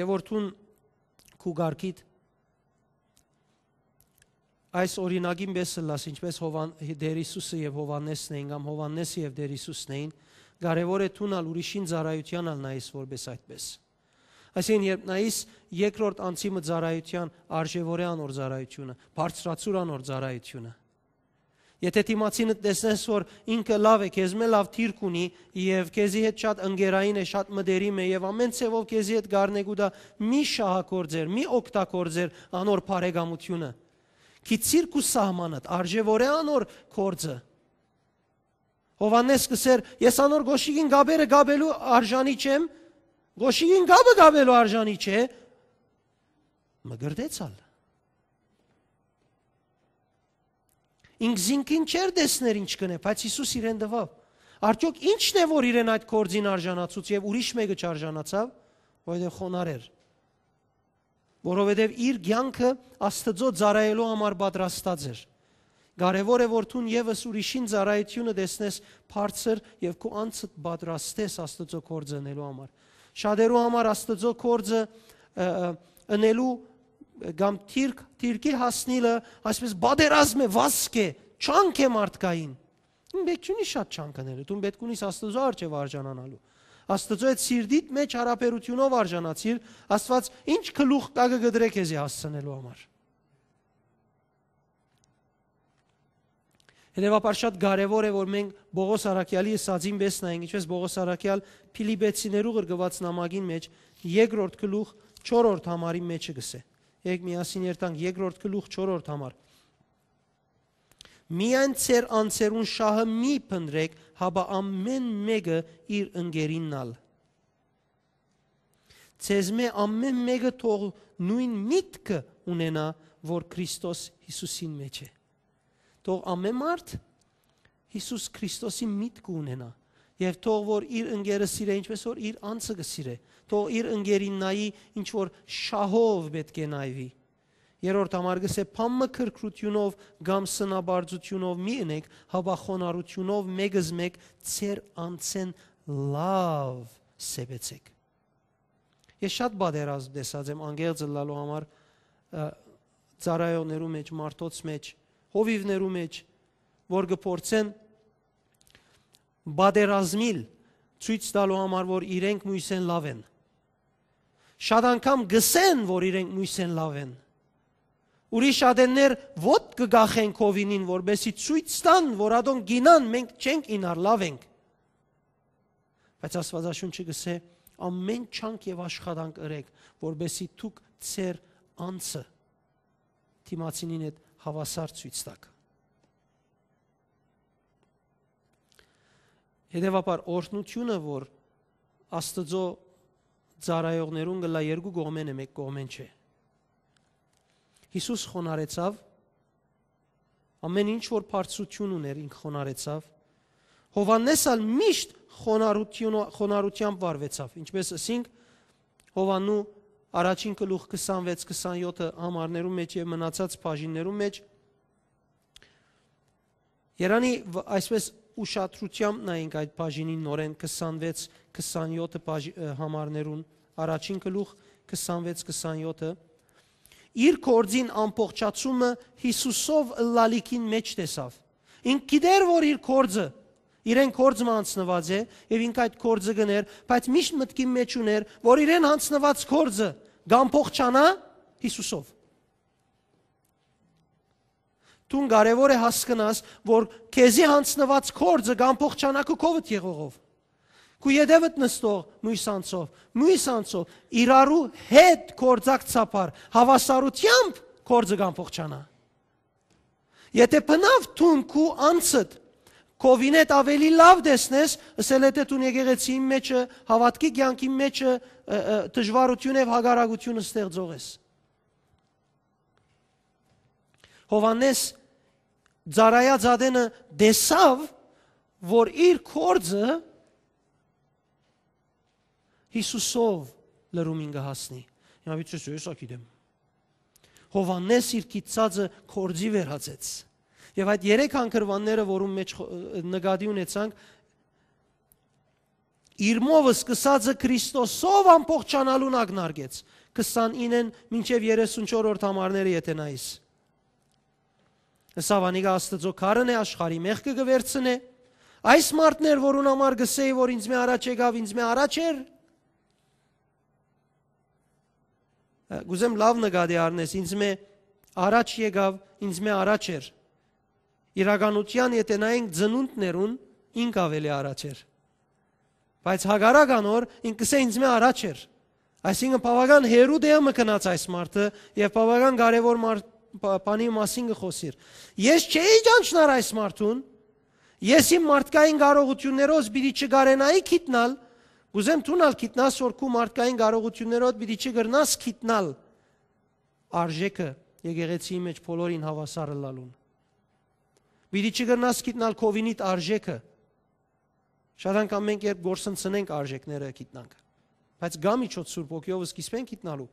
Եւ որ դուն քու կարգիդ այս օրինակին պէս ըլլաս, ինչպէս Յովհան-, Տեր Յիսուսը եւ Յովհաննեսն էին, կամ Յովհաննեսը եւ Տեր Յիսուսն էին, կարեւոր է դուն ալ ուրիշին ծառայութեան ալ նայես որպէս այդպէս։ Այսինքն, երբ նայես երկրորդ անձի մը ծառայութեան, արժեւորե անոր ծառայութիւնը, բարձրացուր անոր ծառայութիւնը։ Եթէ դիմացինդ տեսնես, որ ինքը լաւ է, քեզմէ լաւ դիրք ունի եւ քեզի հետ շատ ընկերային է, շատ մտերիմ է եւ ամէն ձեւով քեզի հետ կ'առնէ կու տայ, մի շահագործեր, մի օգտագործեր անոր բարեկամութիւնը։ Գիցիր քու սահմանդ, արժեւորե անոր գործը։ Յովհաննէս կ'ըսէր, ես անոր գոշիկին կապերը կապելու արժանի չեմ, գոշիկին կապը կապելու արժանի չէ, մկրտեց ալ։ Ինք զինքին չէր տեսներ ինչ կ'ընէ, բայց Յիսուս իրեն տուաւ։ Արդյոք ի՞նչն է, որ իրեն այդ գործին արժանացուց եւ ուրիշ մէկը չարժանացաւ, որովհետեւ խոնարհ էր։ Որովհետեւ իր կեանքը Աստուծոյ ծառայելու համար պատրաստած էր։ Կարեւոր է, որ դուն եւս ուրիշին ծառայութիւնը տեսնես բարձր եւ քու անձդ պատրաստես Աստուծոյ գործը ընելու համար։ Շատերու համար Աստուծոյ գործը, ը, ը, ընելու կամ դիրք, դիրքի հասնիլը այսպես պատերազմ է, վազք է, չանք է մարդկային։ Դուն պէտք չունի շատ չանք ընել, դուն պէտք ունիս Աստուծոյ առջեւ արժանանալու։ Աստուծոյ հետ սիրտիդ մէջ յարաբերութիւնով արժանացիր, Աստուած ինչ գլուխ կայ կը կտրէ քեզի հասցնելու համար։ Հետեւաբար շատ կարեւոր է, որ մենք Պողոս առաքեալի ըսածին պէս նայենք, ինչպես Պողոս առաքեալ Փիլիպեցիներու ղրկուած նամակին մէջ երկրորդ գլուխ չորրորդ համարի մէջը կ'ըսէ։ Եկեք միասին երթանք երկրորդ գլուխ չորրորդ համար։ «Միայն ձեր անձերուն շահը մի փնտռէք, հապա ամէն մէկը իր ընկերինն ալ։ Ձեզմէ ամէն մէկը թող նոյն միտքը ունենայ, որ Քրիստոս Յիսուսին մէջ է»։ Թող ամէն մարդ Յիսուս Քրիստոսի միտքը ունենայ, եւ թող որ իր ընկերը սիրէ, ինչպես որ իր անձը կը սիրէ, թող իր ընկերին նայի, ինչ որ շահով պէտք է նայուի։ Երրորդ համար կ'ըսէ, բան մը քրքրութիւնով կամ սնապարծութիւնով մի ընէք, հապա խոնարհութիւնով մէկզմէկ ձեր անձէն լաւ սեպեցէք։ Ես շատ պատերազմ տեսած եմ, անգերձ ըլլալու համար, ը, ծառայողներու մէջ, մարդոց մէջ, հովիւներու մէջ, որ կը փորձեն պատերազմիլ, ցոյց տալու համար, որ իրենք մոյսէն լաւ են։ Շատ անգամ կ'ըսեն, որ իրենք մոյսէն լաւ են։ Ուրիշ ատեններ ոտք կը կախեն քովինին, որպէսզի ցոյց տան, որ ատոնք գինան, մենք չենք ինար, լաւ ենք։ Բայց Աստուածաշունչը կ'ըսէ, ամէն չանք եւ աշխատանք ըրեք, որպէսզի դուք ձեր անձը դիմացինին հետ հաւասար ցոյց տաք։ Հետեւաբար, օրհնութիւնը, որ Աստուծոյ ծառայողներուն կ'ըլլայ, երկու կողմէն է, մէկ կողմէն չէ։ Յիսուս խոնարհեցաւ, ամէն ինչ որ բարձրութիւն ունէր, ինք խոնարհեցաւ։ Յովհաննէս ալ միշտ խոնարհութիւնը-, խոնարհութեամբ վարուեցաւ, ինչպես ըսինք Յովհաննու առաջին գլուխ քսանվեց քսանեօթը համարներուն մէջ եւ մնացած բաժիններուն մէջ, երանի վ-, այսպես ուշադրութեամբ նայենք այդ բաժինին նորեն քսանվեց քսանեօթը բաժ-, ը, համարներուն, առաջին գլուխ քսանվեց քսանեօթը, իր գործին ամբողջացումը Յիսուսով ըլլալիքին մէջ տեսաւ։ Ինք գիտեր, որ իր գործը, իրեն գործ մը անցնուած է, եւ ինք այդ գործը կ'ընէր, բայց միշտ մտքին մէջ ունէր, որ իրեն անցնուած գործը կ'ամբողջանայ Յիսուսով։ Դուն կարեւոր է հասկնաս, որ քեզի յանձնուած գործը կ'ամբողջանայ քու քովդ եղողով, քու ետեւդ նստող մոյս անձով, մոյս անձով, իրարու հետ գործակցաբար, հաւասարութեամբ գործը կ'ամբողջանայ։ Եթէ բնաւ դուն քու անձդ քովինէդ աւելի լաւ տեսնես, ըսել է թէ դուն եկեղեցիին մէջը, հաւատքի կեանքին մէջը, ը, ը, դժուարութիւն եւ հակառակութիւն ստեղծող ես։ Յովհաննէս ծառայած ատենը տեսաւ, որ իր գործը Յիսուսով լրումին կը հասնի։ Հիմա պիտի ասես, «Ես ա գիտեմ»։ Յովհաննէս իր գիտցածը գործի վերածեց։ Եւ այդ երեք հանգրուանները, որուն մէջ խո-, նկատի ունեցանք, իր մովը սկսածը Քրիստոսով ամբողջանալուն ակնարկեց, քսանիննէն մինչեւ երեսունչորրորդ համարները եթէ նայիս։ Ըսաւ, անիկա Աստուծոյ քարն է, աշխարհի մեղքը կը վերցնէ։ Այս մարդն էր, որուն համար կ'ըսէի, որ ինձմէ առաջ եկաւ, ինձմէ առաջ էր։ Ը, կ'ուզեմ լաւ նկատի առնես, ինձմէ առաջ եկաւ, ինձմէ առաջ էր։ Իրականութեան, եթէ նայենք ծնունդներուն, ինք աւելի առաջ էր։ Բայց հակառակ անոր, ինք կ'ըսէ, «Ինձմէ առաջ էր»։ Այսինքն, բաւական հեռու տեղը մը գնաց այս մարդը եւ բաւական կարեւոր մարդ-, բա-, բանի մասին կը խօսիր։ Ես չէի ճանչնար այս մարդուն, ես իմ մարդկային կարողութիւններով պիտի չկարենայի գիտնալ, կ'ուզեմ դուն ալ գիտնաս, որ քու մարդկային կարողութիւններով պիտի չկրնաս գիտնալ արժէքը եկեղեցիի մէջ բոլորին հաւասար ըլլալուն։ Պիտի չկրնաս գիտնալ քովինիդ արժէքը։ Շատ անգամ մենք երբ գործընծնենք արժէքները գիտնանք, բայց կա միջոց Սուրբ Հոգիով սկիզբէն գիտնալու։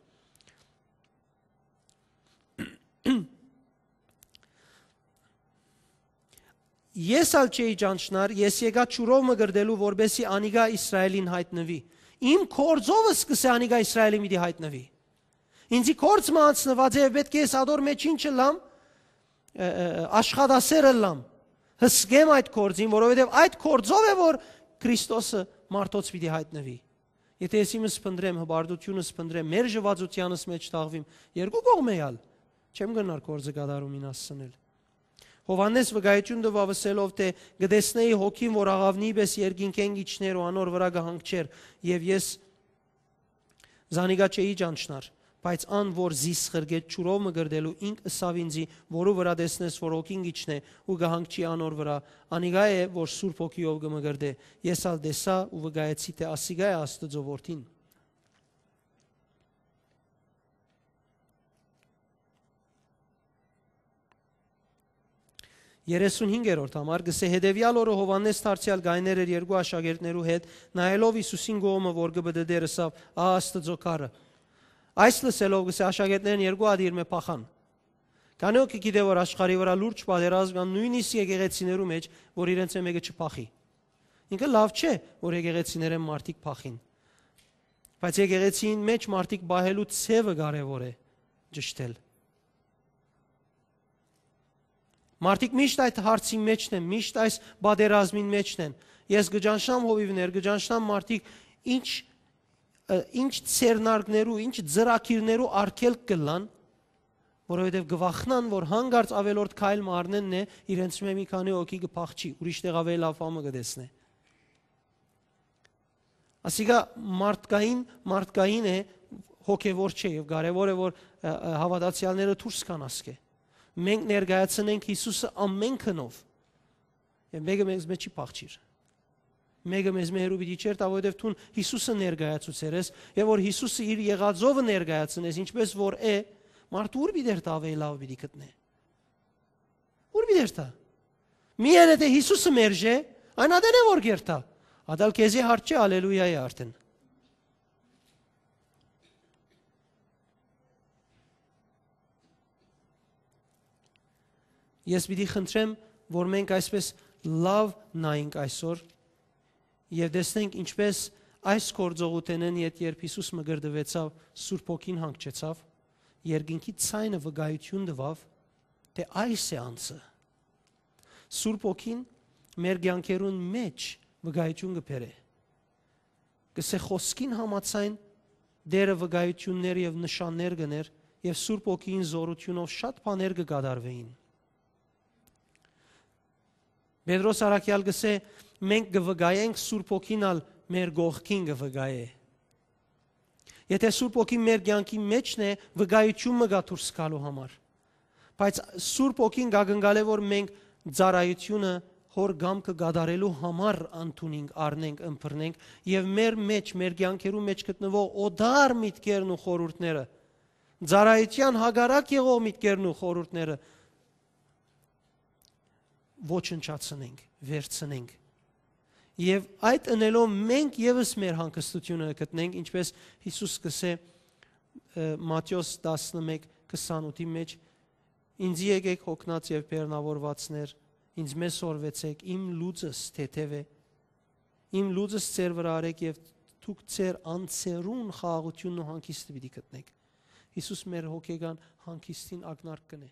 Ես ալ չէի ճանչնար, ես եկայ ջուրով մկրտելու, որպեսզի անիկա Իսրայէլին յայտնուի։ Իմ գործովս կ'ըսէ անիկա Իսրայէլին պիտի յայտնուի։ Ինձի գործ մը անցնուած է, եւ պէտք է ես ատոր մէջ ինչ ըլլամ, ը, ը, ը, աշխատասեր ըլլամ, հսկեմ այդ գործին, որովհետեւ այդ գործով է, որ Քրիստոսը մարդոց պիտի յայտնուի։ Եթէ ես իմս փնտռեմ, հպարտությունս փնտռեմ, մերժուածութեանս մէջ թաղուիմ, երկու կողմէ ալ չեմ կրնար գործը կատարումին հասցնել։ Յովհաննէս վկայութիւն տուաւ ըսելով թէ, «Կը տեսնէի հոգին, որ աղաւնի պէս երկինքէն կ'իջնէր ու անոր վրայ կը հանգչէր, եւ ես զանիկա չէի ճանչնար, բայց ան, որ զիս ղրկեց ջուրով մկրտելու, ինք ըսաւ ինձի, որու վրայ տեսնես, որ հոգին կ'իջնէ ու կը հանգչի անոր վրայ, անիկա է, որ Սուրբ Հոգիով կը մկրտէ։ Ես ալ տեսայ ու վկայեցի թէ ասիկա է Աստուծոյ Որդին»։ Երեսունհինգերորդ համար կ'ըսէ. «Հետեւեալ օրը Յովհաննէս դարձեալ կայներ էր երկու աշակերտներու հետ, նայելով Յիսուսին կողմը, որ կը պտտէր, ըսաւ. "Ա Աստուծոյ քարը"։ Այս լսելով, կ'ըսէ, աշակերտներէն երկու ատիր մը փախան։ Քանի՞ հոգի գիտէ, որ աշխարհի վրայ լուրջ պատերազմ կան, նոյնիսկ եկեղեցիներու մէջ, որ իրենց մէկը չփախի։ Ինքը լաւ չէ, որ եկեղեցիներէն մարդիկ փախին, բայց եկեղեցիին մէջ մարդիկ պահելու ձեւը կարեւոր է ճշդել։ Մարդիկ միշտ այդ հարցին մէջն են, միշտ այս պատերազմին մէջն են։ Ես կը ճանչնամ հովիւներ, կը ճանչնամ մարդիկ ինչ, ը, ինչ ձեռնարկներու, ինչ ծրագիրներու արգելք կ'ըլլան, որովհետեւ կը վախնան, որ հանկարծ աւելորդ քայլ մը առնեն, իրենց մէ մի քանի հոգի կը փախչի, ուրիշ տեղ աւելի լաւ բան մը կը տեսնէ։ Ասիկա մարդկային, մարդկային է, հոգեվոր չէ, եւ կարեւոր է, որ, ը, ը, հաւատացեալները դուրս գան ասկէ։ Մենք ներկայացնենք Յիսուսը ամեն գնով, եւ մէկը մեզմէ չի փախչիր։ Մէկը մեզմէ հեռու պիտի չերթայ, որովհետեւ դուն Յիսուսը ներկայացուցեր ես, եւ որ Յիսուսը իր եղածովը ներկայացնես, ինչպես որ է, մարդը ո՞ւր պիտի երթայ, աւելի լաւ պիտի գտնէ։ Ո՞ւր պիտի երթայ։ Միայն եթէ Յիսուսը մերժէ, այն ատեն է որ կ'երթայ։ Ատալ քեզի հարց չէ, ալելույա է արդեն։ Ես պիտի խնդրեմ, որ մենք այսպես լաւ նայենք այսօր եւ տեսնենք ինչպես այս գործողութենէն յետ երբ Յիսուս մկրտուեցաւ, Սուրբ Հոգին հանգչեցաւ, երկնքի ձայնը վկայութիւն տուաւ, թէ այս է անձը։ Սուրբ Հոգին մեր կեանքերուն մէջ վկայութիւն կը բերէ։ Կսէ խօսքին համաձայն Տէրը վկայութիւններ եւ նշաններ կ'ընէր եւ Սուրբ Հոգիին զօրութիւնով շատ բաներ կը կատարուէին։ Պետրոս առաքեալ կսէ, մենք կը վկայենք, Սուրբ Հոգին ալ մեր կողքին կը վկայէ։ Եթէ Սուրբ Հոգին մեր կեանքի մէջն է, վկայութիւն մը կայ դուրս գալու համար։ Բայց Սուրբ Հոգին կակնկալէ, որ մենք ծառայութիւնը Հօր կամքը կատարելու համար ընդունենք, առնենք, ըմբռնենք եւ մեր մէջ, մեր կեանքերու մէջ գտնուող օտար միտքերն ու խորհուրդները, ծառայութեան հակառակ եղող միտքերն ու խորհուրդները ոչնչացնենք, վերցնենք։ Եւ այդ ընելով մենք եւս մեր հանգստութիւնը գտնենք, ինչպես Յիսուս կսէ, ը, Մատթէոս տասնմեկ քսանութի մէջ. «Ինձի եկեք, հոգնած եւ բեռնաւորուածներ, ինձ մէ սորվեցեք, իմ լուծս թեթեւ է, իմ լուծս ձեր վրայ արեք եւ դուք ձեր անձերուն խաղաղութիւնն ու հանգիստը պիտի գտնեք»։ Յիսուս մեր հոգեկան հանգիստին ակնարկ կ'ընէ։